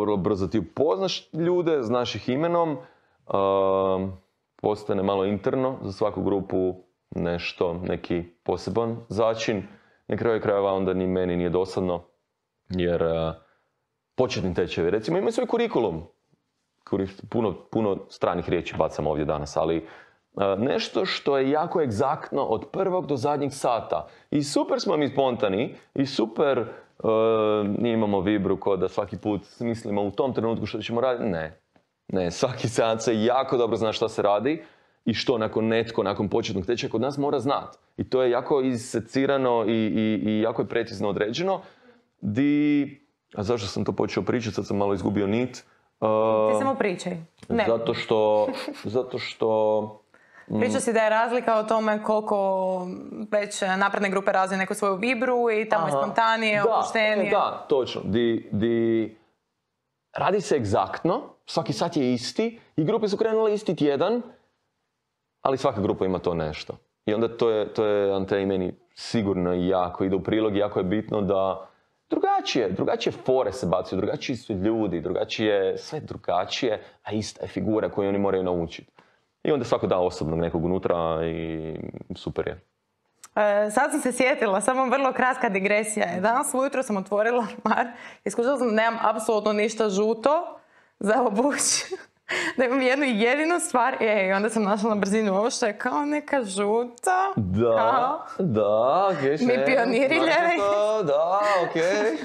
vrlo brzo ti upoznaš ljude, znaš ih imenom, postane malo interno za svaku grupu nešto, neki poseban začin. Na kraju krajeva onda ni meni nije dosadno, jer početni tečajevi, recimo, imaju svoj kurikulum. Puno stranih riječi bacam ovdje danas, ali nešto što je jako egzaktno od prvog do zadnjeg sata. I super smo mi spontani i super imamo vibru ko da svaki put mislimo u tom trenutku što ćemo raditi. Ne, svaki seans se jako dobro zna šta se radi i što nakon početnog tečaja kod nas mora znati. I to je jako isecirano i jako je precizno određeno. A zašto sam to počeo pričati, sad sam malo izgubio nit. Ti samo pričaj. Ne. Zato što Priča si da je razlika o tome koliko već napredne grupe razviju neku svoju vibru i tamo je spontanije, opuštenije. Da, točno. Radi se egzaktno, svaki sat je isti i grupe su krenule isti tjedan, ali svaka grupa ima to nešto. I onda to je Ante i meni sigurno jako ide u prilog, jako je bitno da drugačije fore se bacuju, drugačiji su ljudi, sve drugačije, a ista je figura koju oni moraju naučiti. I onda svako da osobnog nekog unutra i super je. Sad sam se sjetila, samo vrlo kratka digresija je. Danas ujutro sam otvorila ormar i skušala sam da nemam apsolutno ništa žuto za obući. Da imam jednu jedinu stvar i onda sam našla na brzinu ovo što je kao neka žuta. Da, okej. Mi pioniri ljevi. Da, okej.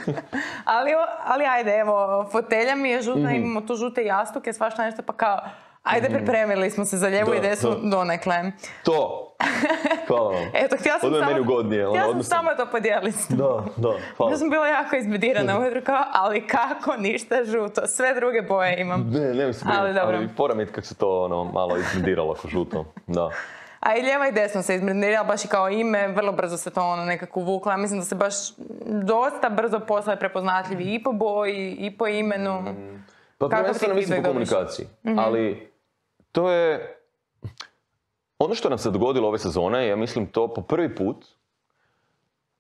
Ali ajde, evo, fotelja mi je žuta, imamo tu žute jastuke, svašta nešto, pa kao, ajde, pripremili smo se za lijevu i desnu donekle. To! Hvala vam. Eto, htjela sam samo to podijeliti. Da, hvala. Ja sam bila jako izbedirana ujutro kao, ali kako ništa žuto, sve druge boje imam. Ne se brinuti, ali fora mi kako se to malo izbediralo ako žuto, da. A i lijeva i desno se izbedirala, baš i kao ime, vrlo brzo se to nekako uvuklo. Ja mislim da se baš dosta brzo postale prepoznatljivi i po boji, i po imenu. Pa prvenstveno mislim po komunikaciji, ali to je... Ono što nam se dogodilo ove sezone, ja mislim to po prvi put,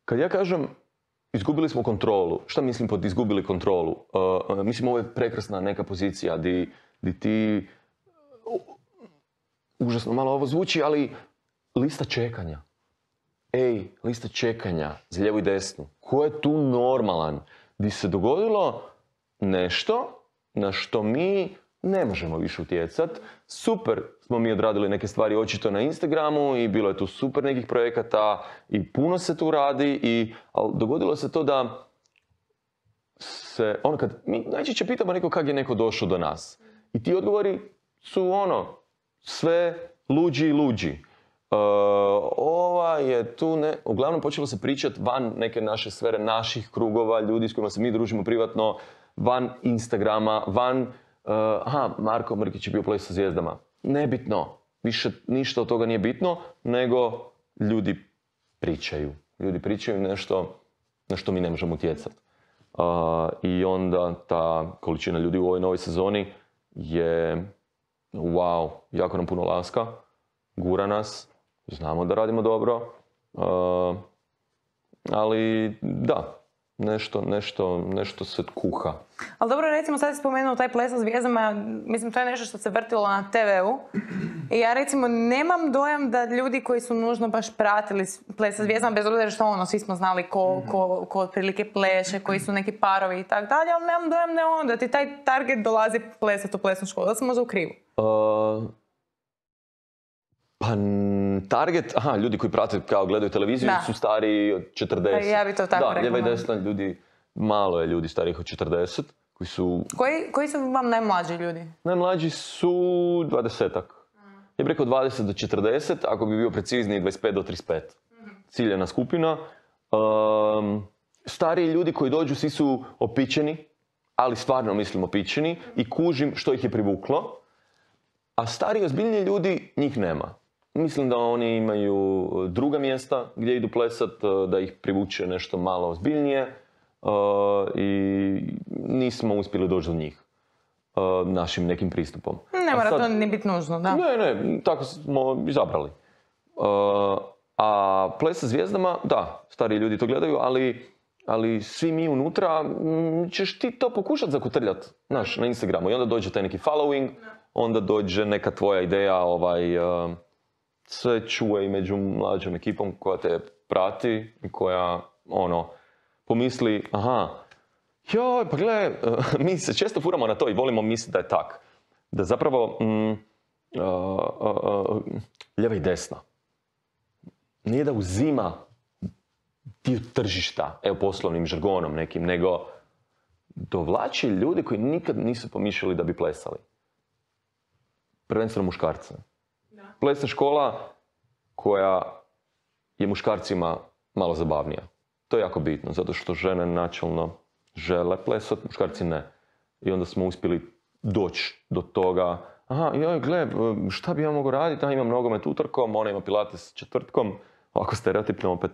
kad ja kažem izgubili smo kontrolu, šta mislim pod izgubili kontrolu? Mislim ovo je prekrasna neka pozicija di ti, užasno malo ovo zvuči, ali lista čekanja. Lista čekanja za lijevu i desnu. Ko je tu normalan? Di se dogodilo nešto na što mi ne možemo više utjecat. Super smo mi odradili neke stvari očito na Instagramu i bilo je tu super nekih projekata i puno se tu radi, ali dogodilo se to da se, kad mi najčešće pitamo neko kak je neko došao do nas. I ti odgovori su sve luđi i luđi. Ova je tu, uglavnom počelo se pričati van neke naše sfere, naših krugova, ljudi s kojima se mi družimo privatno, van Instagrama, van Marko Mrkić je bio Ples sa zvijezdama. Nebitno. Više ništa od toga nije bitno, nego ljudi pričaju. Ljudi pričaju nešto na što mi ne možemo utjecati. I onda ta količina ljudi u ovoj novoj sezoni je wow, jako nam puno laska, gura nas, znamo da radimo dobro, ali da, nešto se kuha. Ali dobro, recimo sad si spomenuo taj Ples sa zvijezdama, mislim to je nešto što se vrtilo na TV-u. I ja recimo nemam dojam da ljudi koji su nužno baš pratili Ples sa zvijezdama, bez obzira što svi smo znali ko otprilike pleše, koji su neki parovi i tako dalje, ali nemam dojam da ti taj target dolazi plesati u plesnu školu, da sam možda u krivu. Pa target, ljudi koji prate kao gledaju televiziju su stariji od 40. Pa ja bi to tako rekla. Da, lijeva i desna ljudi, malo je ljudi starijih od 40, koji su... Koji su vam najmlađi ljudi? Najmlađi su 20-ak. Ja bih rekao 20 do 40, ako bi bio precizniji 25 do 35. Ciljena skupina. Stariji ljudi koji dođu, svi su opičeni, ali stvarno mislim opičeni i kužim što ih je privuklo. A stariji, ozbiljniji ljudi, njih nema. Mislim da oni imaju druga mjesta gdje idu plesat, da ih privuče nešto malo ozbiljnije i nismo uspjeli doći do njih našim nekim pristupom. Ne mora to ni biti nužno, da. Ne, tako smo izabrali. A Ples sa zvijezdama, da, stariji ljudi to gledaju, ali svi mi unutra ćeš ti to pokušati zakotrljati, na Instagramu. I onda dođe taj neki following, onda dođe neka tvoja ideja, sve čuje i među mlađom ekipom koja te prati i koja, pomisli, joj, pa gle, mi se često furamo na to i volimo misliti da je tak. Da zapravo, lijeva i desna, nije da uzima dio tržišta, poslovnim žargonom nekim, nego dovlači ljudi koji nikad nisu pomišljali da bi plesali. Prvenstveno muškarce. Da. plesna škola koja je muškarcima malo zabavnija. To je jako bitno, zato što žene načelno žele plesat, muškarci ne. I onda smo uspjeli doći do toga, aha, joj, gle, šta bi ja mogao raditi? Imam nogomet utorkom, ona ima pilates četvrtkom, ovako stereotipno opet,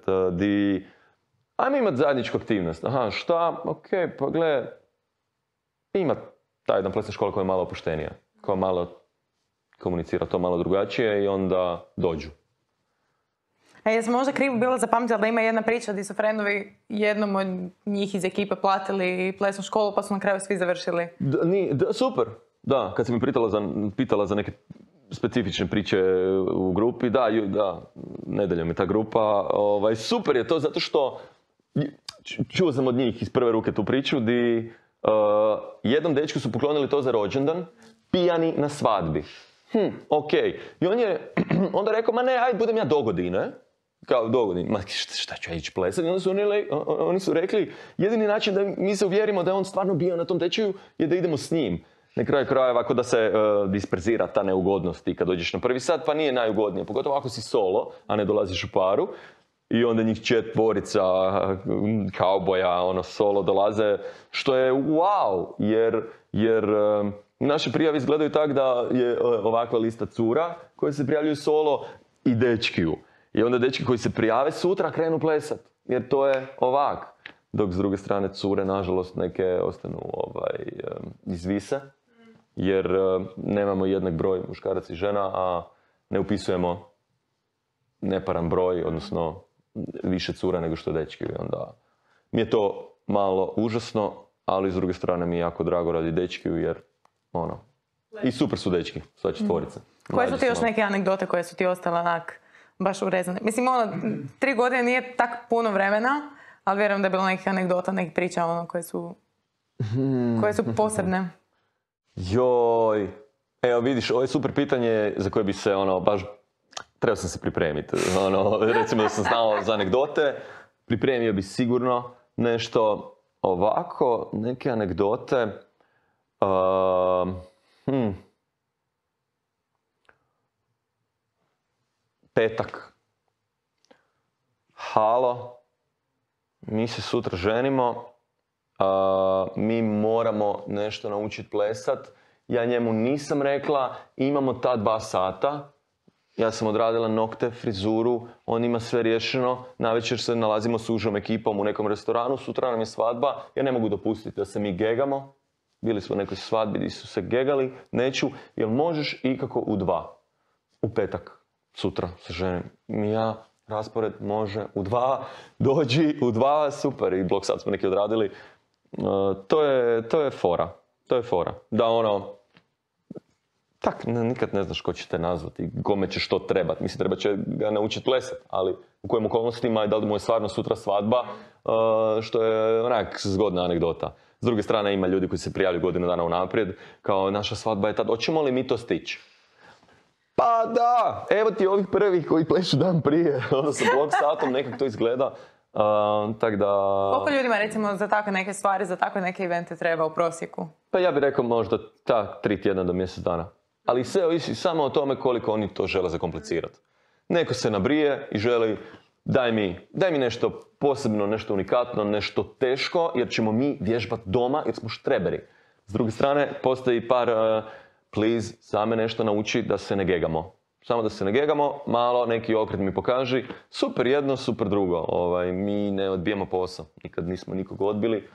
ajmo imati zajedničku aktivnost. Aha, šta? Ok, pa gle, ima ta jedna plesna škola koja je malo opuštenija, koja malo komunicira to malo drugačije i onda dođu. A jesam možda krivo bila zapamtila da ima jedna priča gdje su frendovi jednom od njih iz ekipe platili plesnu školu pa su na kraju svi završili? Super, da, kad si mi pitala za neke specifične priče u grupi, da, nedeljom je ta grupa, super je to zato što čuo sam od njih iz prve ruke tu priču di jednom dečku su poklonili to za rođendan, pijani na svadbi. Ok. I on je onda rekao, ma ne, ajde budem ja dogodine. Kao dogodine, ma šta ću ja ići plesati? I onda su oni su rekli, jedini način da mi se uvjerimo da je on stvarno bio na tom tečaju je da idemo s njim. Na kraju krajeva, ako da se disperzira ta neugodnost i kad dođeš na prvi sat, pa nije najugodnije. Pogotovo ako si solo, a ne dolaziš u paru. I onda njih četvorica kauboja, solo dolaze, što je wow, jer naše prijave izgledaju tak da je ovakva lista cura koje se prijavljuju solo i dečkiju. I onda dečki koji se prijave sutra krenu plesat, jer to je ovak. Dok s druge strane cure, nažalost, neke ostanu izvise, jer nemamo jednak broj muškaraca i žena, a ne upisujemo neparan broj, odnosno više cura nego što dečki. Onda mi je to malo užasno, ali s druge strane mi je jako drago radi dečkiju, jer i super su dečki, sva četvorica. Koje su ti još neke anegdote koje su ti ostale onak baš urezane? Mislim, 3 godine nije tak puno vremena, ali vjerujem da je bilo nekih anegdota, nekih priča koje su posebne. Joj, evo vidiš, ovo je super pitanje za koje bi se baš trebao sam se pripremiti. Recimo da sam znao za anegdote, pripremio bi sigurno nešto ovako, neke anegdote. Petak. Halo, mi se sutra ženimo, mi moramo nešto naučiti plesat. Ja njemu nisam rekla, imamo ta 2 sata. Ja sam odradila nokte, frizuru, on ima sve riješeno. Navečer se nalazimo s užom ekipom u nekom restoranu, sutra nam je svadba. Ja ne mogu dopustiti da se mi gegamo. Bili smo u nekoj svadbi gdje su se gegali. Neću, jel možeš ikako u 2? U petak, sutra se ženim. Ja, raspored može u 2, dođi u 2, super. I blok sad smo neki odradili. To je fora. To je fora. Da tak, nikad ne znaš ko će te nazvati, kome će što trebati. Mislim, treba će ga naučiti plesati, ali u kojim okolnostima i da li mu je stvarno sutra svadba, što je onak zgodna anegdota. S druge strane, ima ljudi koji se prijavljaju godinu dana unaprijed, kao naša svadba je tad, hoćemo li mi to stići? Pa da, evo ti ovih prvih koji plešu dan prije, onda sa blok satom nekak to izgleda. Tak da... Koliko ljudima recimo za takve neke stvari, za takve neke evente treba u prosjeku? Pa ja bih rekao možda 3 tjedna do mjesec dana. Ali sve ovisi samo o tome koliko oni to žele zakomplicirati. Neko se nabrije i želi daj mi nešto posebno, nešto unikatno, nešto teško, jer ćemo mi vježbati doma jer smo štreberi. S druge strane, postoji par please, same nešto nauči da se ne gegamo. Samo da se ne gegamo, malo neki okret mi pokaži. Super jedno, super drugo. Mi ne odbijamo posao. Nikad nismo nikog odbili,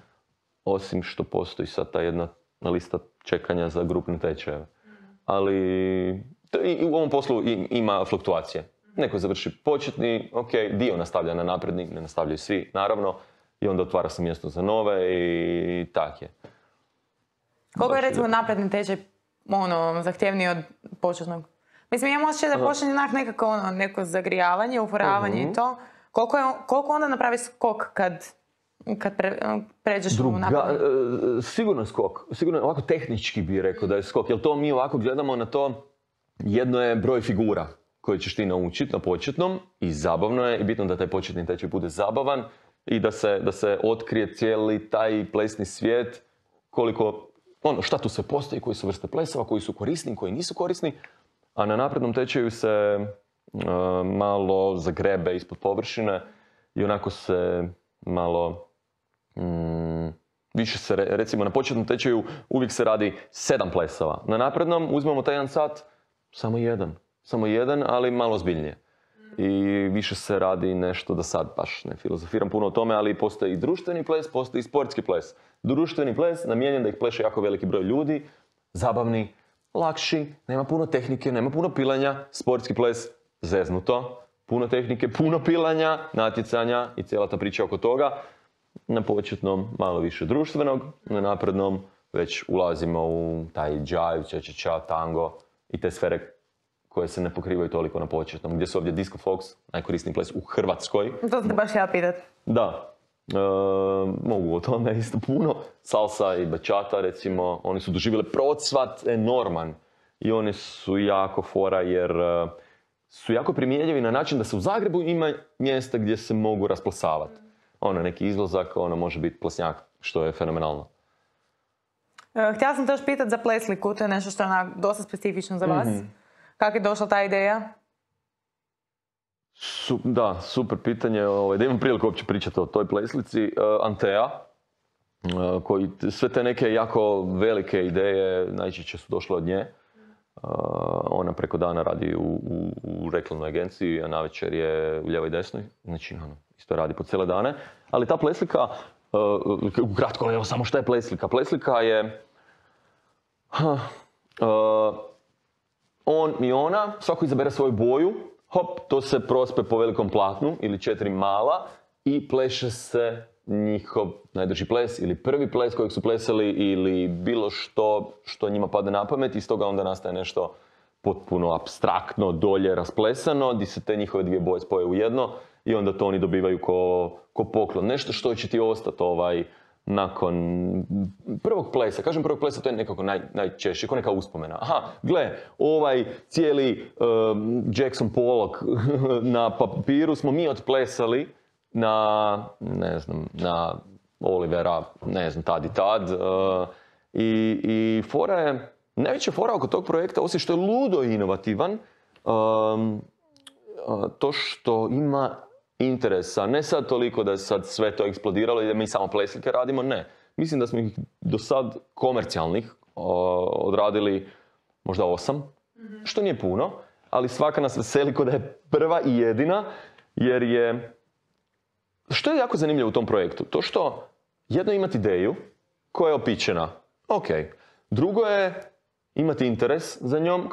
osim što postoji sad ta jedna lista čekanja za grupne tečajeve. Ali i u ovom poslu ima fluktuacije. Neko završi početni, ok, dio nastavlja na napredni, ne nastavljaju svi, naravno. I onda otvara se mjesto za nove i tak je. Koliko je recimo napredni tečaj zahtjevniji od početnog? Mislim, imam osjećaj da počne nekako neko zagrijavanje, uforavanje i to. Koliko onda napravi skok kad pređeš u napad? Sigurno skok. Sigurno ovako tehnički bih rekao da je skok. Jer to mi ovako gledamo na to, jedno je broj figura koje ćeš ti naučiti na početnom i zabavno je i bitno da taj početni tečaj bude zabavan i da se otkrije cijeli taj plesni svijet, koliko, šta tu sve postoji, koji su vrste plesova, koji su korisni, koji nisu korisni. a na naprednom tečaju se malo zagrebe ispod površine i onako se malo više se, recimo na početnom tečaju uvijek se radi 7 plesova. Na naprednom uzmemo taj 1 sat, samo jedan, ali malo ozbiljnije. I više se radi nešto, da sad baš ne filozofiram puno o tome, ali postoji i društveni ples, postoji i sportski ples. Društveni ples namijenjen da ih pleše jako veliki broj ljudi, zabavni, lakši, nema puno tehnike, nema puno pilanja. Sportski ples, zeznuto, puno tehnike, puno pilanja, natjecanja i cijela ta priča oko toga. Na početnom malo više društvenog, na naprednom već ulazimo u taj jive, cha-cha-cha, tango i te sfere koje se ne pokrivaju toliko na početnom. Gdje su ovdje Disco Fox, najkorisniji ples u Hrvatskoj. To ste baš ja pitat. Da. Mogu o tome isto puno. Salsa i bachata, recimo, oni su doživjeli procvat enorman. I oni su jako fora jer su jako primjenjivi na način da se u Zagrebu ima mjesta gdje se mogu rasplesavati. Neki izlazak, može biti plesnjak, što je fenomenalno. Htjela sam te još pitati za plesliku, to je nešto što je dosta specifično za vas. Kako je došla ta ideja? Da, super pitanje. Da imam priliku uopće pričati o toj pleslici. Antea, koji sve te neke jako velike ideje najčešće su došle od nje. Ona preko dana radi u reklamnoj agenciji, a navečer je u ljevoj i desnoj. Znači, isto radi po cijele dane. Ali ta pleslika, ukratko, evo samo šta je pleslika. Pleslika je on i ona, svako izabere svoju boju, hop, to se prospe po velikom platnu ili 4 mala i pleše se njihov najdrži ples ili prvi ples kojeg su plesali ili bilo što njima pada na pamet i iz toga onda nastaje nešto potpuno apstraktno, dolje rasplesano, gdje se te njihove dvije boje spoje u jedno i onda to oni dobivaju ko poklon. Nešto što će ti ostati nakon prvog plesa. Kažem prvog plesa, to je nekako najčešće, kao neka uspomena. Aha, gle, cijeli Jackson Pollock na papiru smo mi otplesali na Olivera, tad i tad. I fora je, najveća fora oko tog projekta, osim što je ludo inovativan, to što ima interesa, ne sad toliko da je sad sve to eksplodiralo i da mi samo pleslike radimo, ne. Mislim da smo ih do sad komercijalnih odradili možda 8, što nije puno, ali svaka nas veseli ko da je prva i jedina, jer je... Što je jako zanimljivo u tom projektu? To što jedno imati ideju koja je opičena, ok. Drugo je imati interes za njom,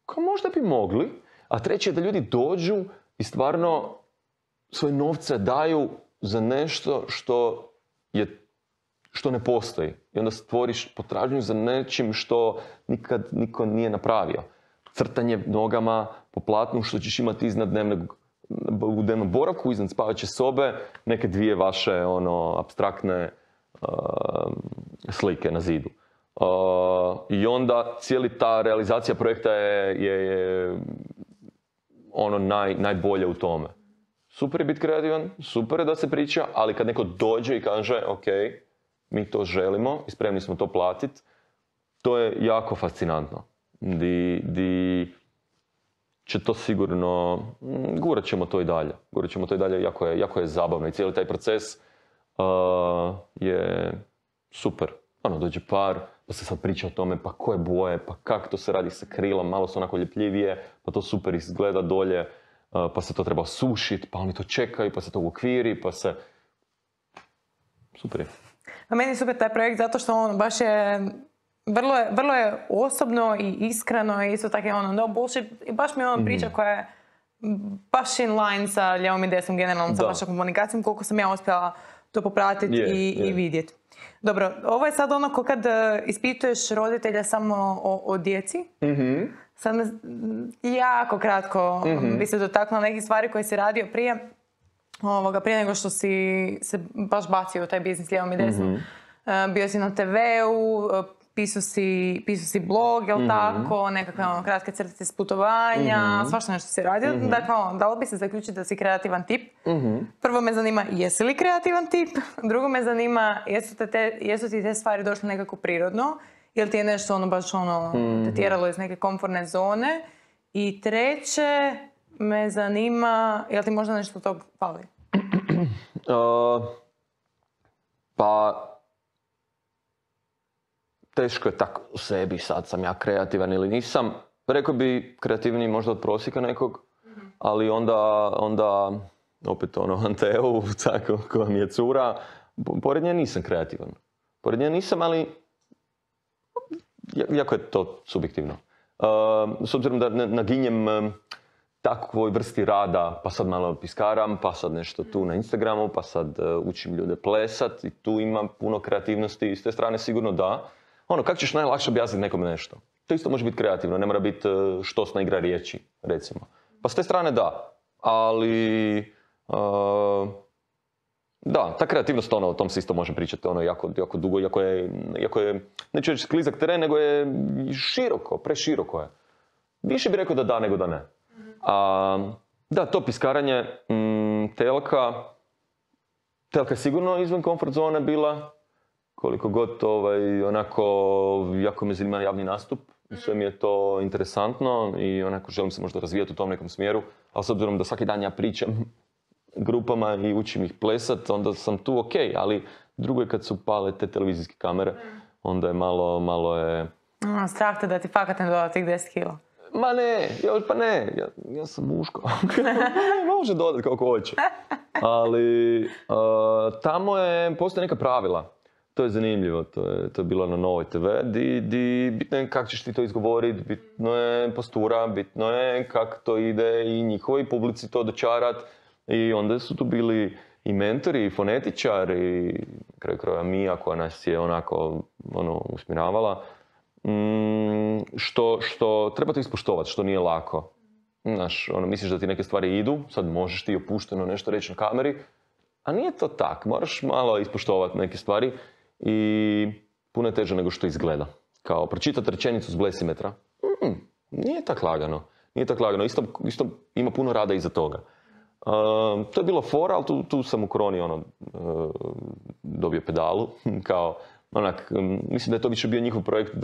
kao možda bi mogli, a treće je da ljudi dođu i stvarno svoje novce daju za nešto što ne postoji. I onda stvoriš potražnju za nečim što nikad niko nije napravio. Crtanje nogama po platnu što ćeš imati u dnevnom boravku, iznad spavaće sobe, neke dvije vaše apstraktne slike na zidu. I onda cijeli ta realizacija projekta je najbolje u tome. Super je biti kreativan, super je da se priča, ali kad neko dođe i kaže ok, mi to želimo i spremni smo to platiti, to je jako fascinantno. Di će to sigurno, gurat ćemo to i dalje, jako je zabavno i cijeli taj proces je super. Dođe par, pa se sad priča o tome, pa koje boje, pa kako to se radi sa krilom, malo su onako ljepljivije, pa to super izgleda dolje, pa se to treba sušiti, pa oni to čekaju, pa se to uokviri, pa se... Super je. A meni je super taj projekt zato što on baš je... Vrlo je osobno i iskreno i isto tako je no bullshit. I baš mi je priča koja je baš in line sa ljevom i desnom generalnom, sa vašom komunikacijom, koliko sam ja uspjela to popratiti i vidjeti. Dobro, ovo je sad ko kad ispituješ roditelja samo o djeci. Sad me jako kratko bi se dotaknula nekih stvari koje si radio prije nego što si se baš bacio u taj biznis lijevom i desnom. Bio si na TV-u, pisao si blog, jel tako, nekakve kratke crtice s putovanja, svašta nešto si radio. Dakle, dalo bi se zaključiti da si kreativan tip. Prvo me zanima, jesi li kreativan tip? Drugo me zanima, jesu ti te stvari došle nekako prirodno? Jel ti je nešto ono baš ono te tjeralo iz neke komfortne zone? I treće, me zanima, jel ti možda nešto tog fali? Pa, teško je tako u sebi, sad sam ja kreativan ili nisam. Rekao bi kreativniji možda od prosjeka nekog, ali onda opet ono, Anteu, tako koja mi je cura, pored nje nisam kreativan. Pored nje nisam, ali jako je to subjektivno. S obzirom da naginjem takvoj vrsti rada, pa sad malo piskaram, pa sad nešto tu na Instagramu, pa sad učim ljude plesat i tu ima puno kreativnosti i s te strane sigurno da. Ono, kako ćeš najlakše objasniti nekome nešto? To isto može biti kreativno, ne mora biti štosna igra riječi, recimo. Pa s te strane da, ali da, ta kreativnost, ono, o tom se isto može pričati ono, jako dugo, jako je, neću reći sklizak teren, nego je široko, preširoko je. Više bih rekao da da nego da ne. Da, to piskaranje, Telka je sigurno izvan komfort zone bila, koliko god onako, jako me zanima javni nastup, sve mi je to interesantno i onako želim se možda razvijati u tom nekom smjeru, ali s obzirom da svaki dan ja pričam grupama i učim ih plesat, onda sam tu ok, ali drugo je kad su pale te televizijske kamere, onda je malo je... Strah te da ti fakat ne doda tih 10 kila. Ma ne, ja sam muško. Može dodati kako hoće. Ali tamo postoje neka pravila. To je zanimljivo, to je bilo na Novoj TV, di bitno je kako ćeš ti to izgovoriti, bitno je postura, bitno je kako to ide i njihovoj publici to dočarat. I onda su tu bili i mentori, i fonetičari, i kraj kraja Mija koja nas je onako usmjeravala. Što treba to ispoštovati, što nije lako. Znaš, misliš da ti neke stvari idu, sad možeš ti opušteno nešto reći na kameri, a nije to tak, moraš malo ispoštovati neke stvari i puno je teže nego što izgleda. Kao pročitati rečenicu s blesimetra, nije tak lagano. Isto ima puno rada iza toga. To je bilo fora, ali tu sam u koroni dobio pedalu, kao mislim da je to više bio njihov projekt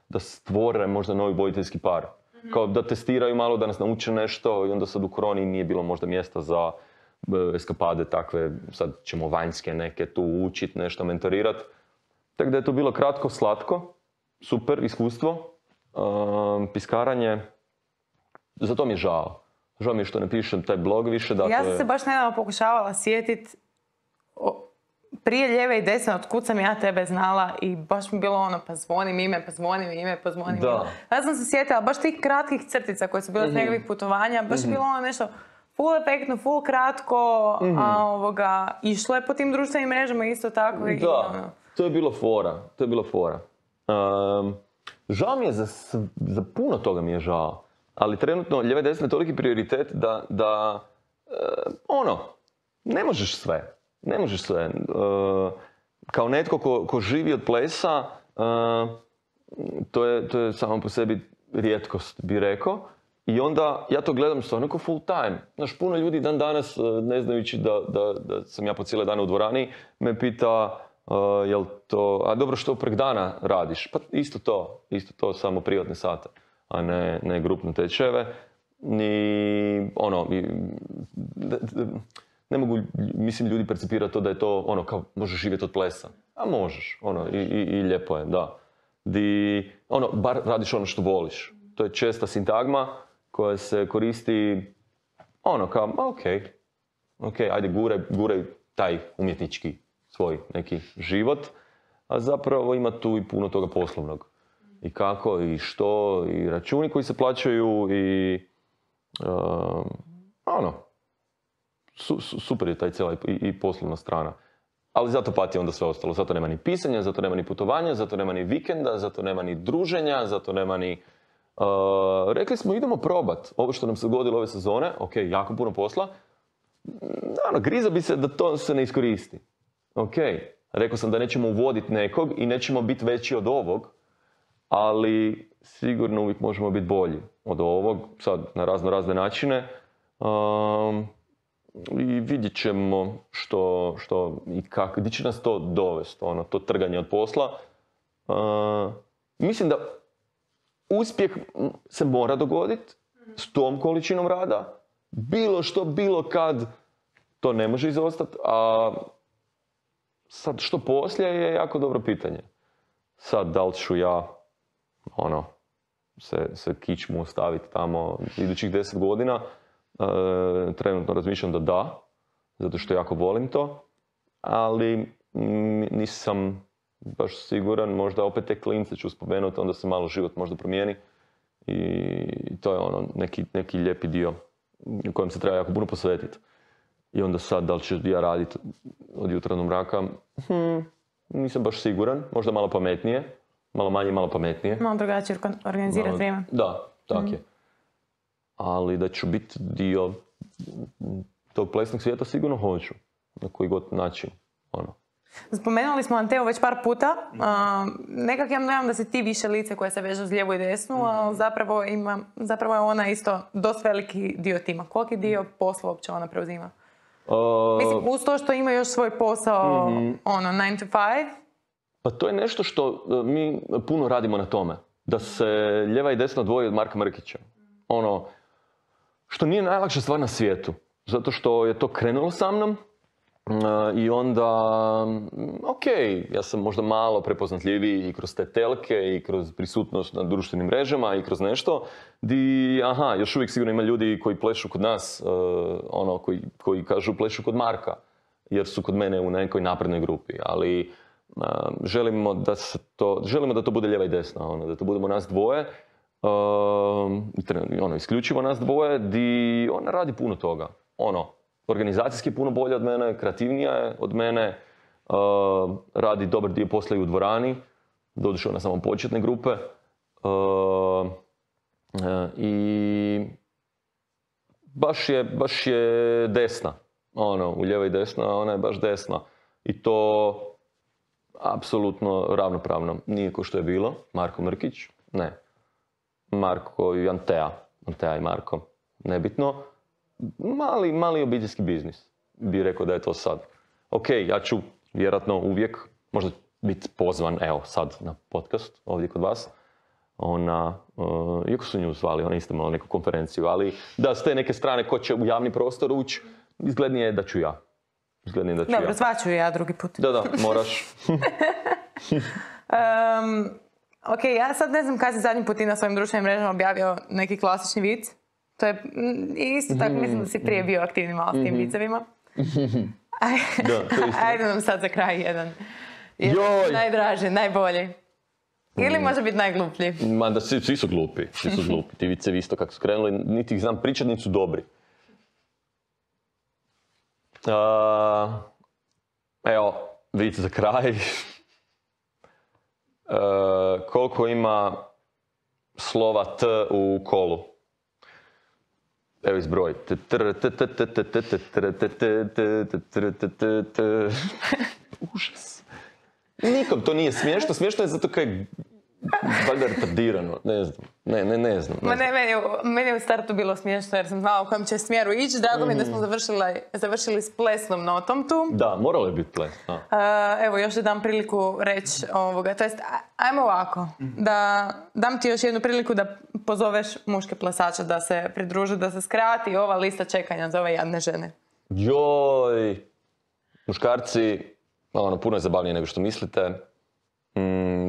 da stvore možda novi voditeljski par. Kao da testiraju malo, da nas nauče nešto i onda sad u koroni nije bilo možda mjesta za eskapade takve, sad ćemo vanjske neke tu učiti, nešto mentorirati. Tako da je to bilo kratko, slatko, super iskustvo, piskaranje, zato mi je žao. Žao mi je što ne pišem taj blog više. Dakle... Ja sam se baš nedavno pokušavala sjetiti prije lijeve i desne, od kud sam ja tebe znala i baš mi bilo ono, pa zvonim ime. Ja sam se sjetila baš tih kratkih crtica koje su bile s nekakvih putovanja, baš je bilo ono nešto full efektno, full kratko, a išlo je po tim društvenim mrežama isto tako. Da, to je bilo fora. Žao mi je za puno toga mi je žao. Ali trenutno lijeva i desna je toliki prioritet da ne možeš sve. Kao netko ko živi od plesa, to je samo po sebi rijetkost, bi rekao. I onda ja to gledam stvarno kao full time. Znaš, puno ljudi dan danas, ne znajući da sam ja po cijele dane u dvorani, me pita jel to, a dobro što prek dana radiš? Pa isto to, samo privatne sate, a ne grupne tečajeve. Ne mogu, mislim, ljudi percipirati to da je to kao možeš živjeti od plesa. A možeš, i lijepo je, da. Bar radiš ono što voliš. To je česta sintagma koja se koristi kao, ok, ajde guraj taj umjetnički svoj neki život, a zapravo ima tu i puno toga poslovnog. I kako, i što, i računi koji se plaćaju, i super je taj cijela i poslovna strana. Ali zato pati onda sve ostalo. Zato nema ni pisanja, zato nema ni putovanja, zato nema ni vikenda, zato nema ni druženja, zato nema ni... rekli smo idemo probat ovo što nam se dogodilo ove sezone, ok, jako puno posla. Griza bi se da to se ne iskoristi. Ok, rekao sam da nećemo uvoditi nekog i nećemo biti veći od ovog, ali sigurno uvijek možemo biti bolji od ovog, sad na razne načine. I vidjet ćemo što i kako, gdje će nas to dovesti, to trganje od posla. mislim da uspjeh se mora dogoditi s tom količinom rada. Bilo što, bilo kad, to ne može izostati, a sad što poslije je jako dobro pitanje. Sad, da li ću ja, se kičmu ostaviti tamo idućih 10 godina, trenutno razmišljam da, zato što jako volim to, ali nisam baš siguran, možda opet te klince ću spomenuti, onda se malo život možda promijeni i to je neki lijepi dio u kojem se treba jako puno posvetiti. I onda sad, da li ću ja raditi od jutra do mraka, nisam baš siguran, možda malo pametnije, malo manje, malo pametnije. Malo drugačije organizirati vrijeme. Da, tak je. Ali da ću biti dio tog plesnog svijeta sigurno hoću, na koji god način. Spomenuli smo Anteu već par puta. Nekak ja nemam da si ti više lice koje se veže uz lijevu i desnu, ali zapravo je ona isto dosta veliki dio tima. Koliki dio posla uopće ona preuzima? Mislim, uz to što ima još svoj posao, 9 to 5. Pa to je nešto što mi puno radimo na tome. Da se lijeva i desna odvoji od Marka Mrkića. Što nije najlakša stvar na svijetu. Zato što je to krenulo sa mnom. I onda, ja sam možda malo prepoznatljiviji i kroz te telke i kroz prisutnost na društvenim mrežama i kroz nešto još uvijek sigurno ima ljudi koji plešu kod nas, koji kažu plešu kod Marka, jer su kod mene u nekoj naprednoj grupi, ali želimo da to bude lijeva i desna, da to budemo nas dvoje, isključivo nas dvoje, di ona radi puno toga, organizacijski je puno bolja od mene, kreativnija je od mene, radi dobar dio posla i u dvorani, doduše na samom početne grupe. I baš je desna. U lijeva i desna, ona je baš desna. I to apsolutno ravnopravno. Nije ko što je bilo. Marko Mrkić, ne. Marko i Antea. Antea i Marko, nebitno. Mali obiteljski biznis, bi rekao da je to sad. Ja ću vjerojatno uvijek možda biti pozvan, sad na podcast ovdje kod vas. Iako su nju zvali, ona isto imala neku konferenciju, ali da s te neke strane ko će u javni prostor ući, izglednije je da ću ja. Dobro, zvaću ja drugi put. Da, moraš. Ja sad ne znam kada si zadnji put na svojim društvenim mrežama objavio neki klasični vic. To je isto tako, mislim da si prije bio aktivni malo s tim vicevima. Ajde nam sad za kraj jedan najdraži, najbolji. Ili može biti najgluplji. Da, svi su glupi. Ti vicevi isto kako su krenuli, niti ih znam pričat, niti su dobri. Vic za kraj. Koliko ima slova T u kolu? Evo izbroj. Užas. Nikom to nije smiješno. Smiješno je zato kaj je valjda retardirano. Ne znam. Meni je u startu bilo smiješno jer sam znala u kojem će smjeru ići. Drago mi je da smo završili s plesnom notom tu. Da, moralo je biti ples. Evo, još da dam priliku reći ovoga. To jest, ajmo ovako. Da dam ti još jednu priliku da pozoveš muške plesače da se pridruže, da se skrati ova lista čekanja za ove jadne žene. Joj! Muškarci, puno je zabavnije nego što mislite.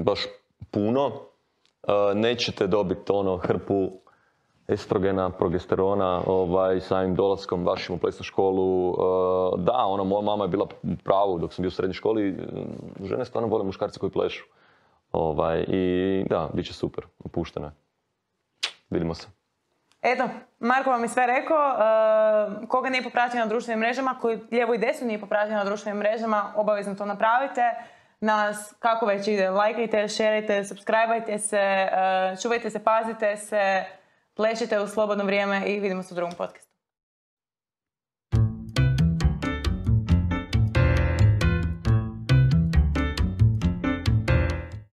Baš puno. Nećete dobiti hrpu estrogena, progesterona samim dolaskom vašim u plesnu školu. Da, moja mama je bila u pravu dok sam bio u srednjoj školi. Žene stvarno vole muškarci koji plešu. I da, bit će super. Opušteno je. Vidimo se. Eto, Marko vam je sve rekao. Koga nije popratio na društvenim mrežama, koji lijevo i desno nije popratio na društvenim mrežama, obavezno to napravite. Nas, kako već ide, lajkajte, šerajte, subscribeajte se, čuvajte se, pazite se, plešite u slobodno vrijeme i vidimo se u drugom podcastu.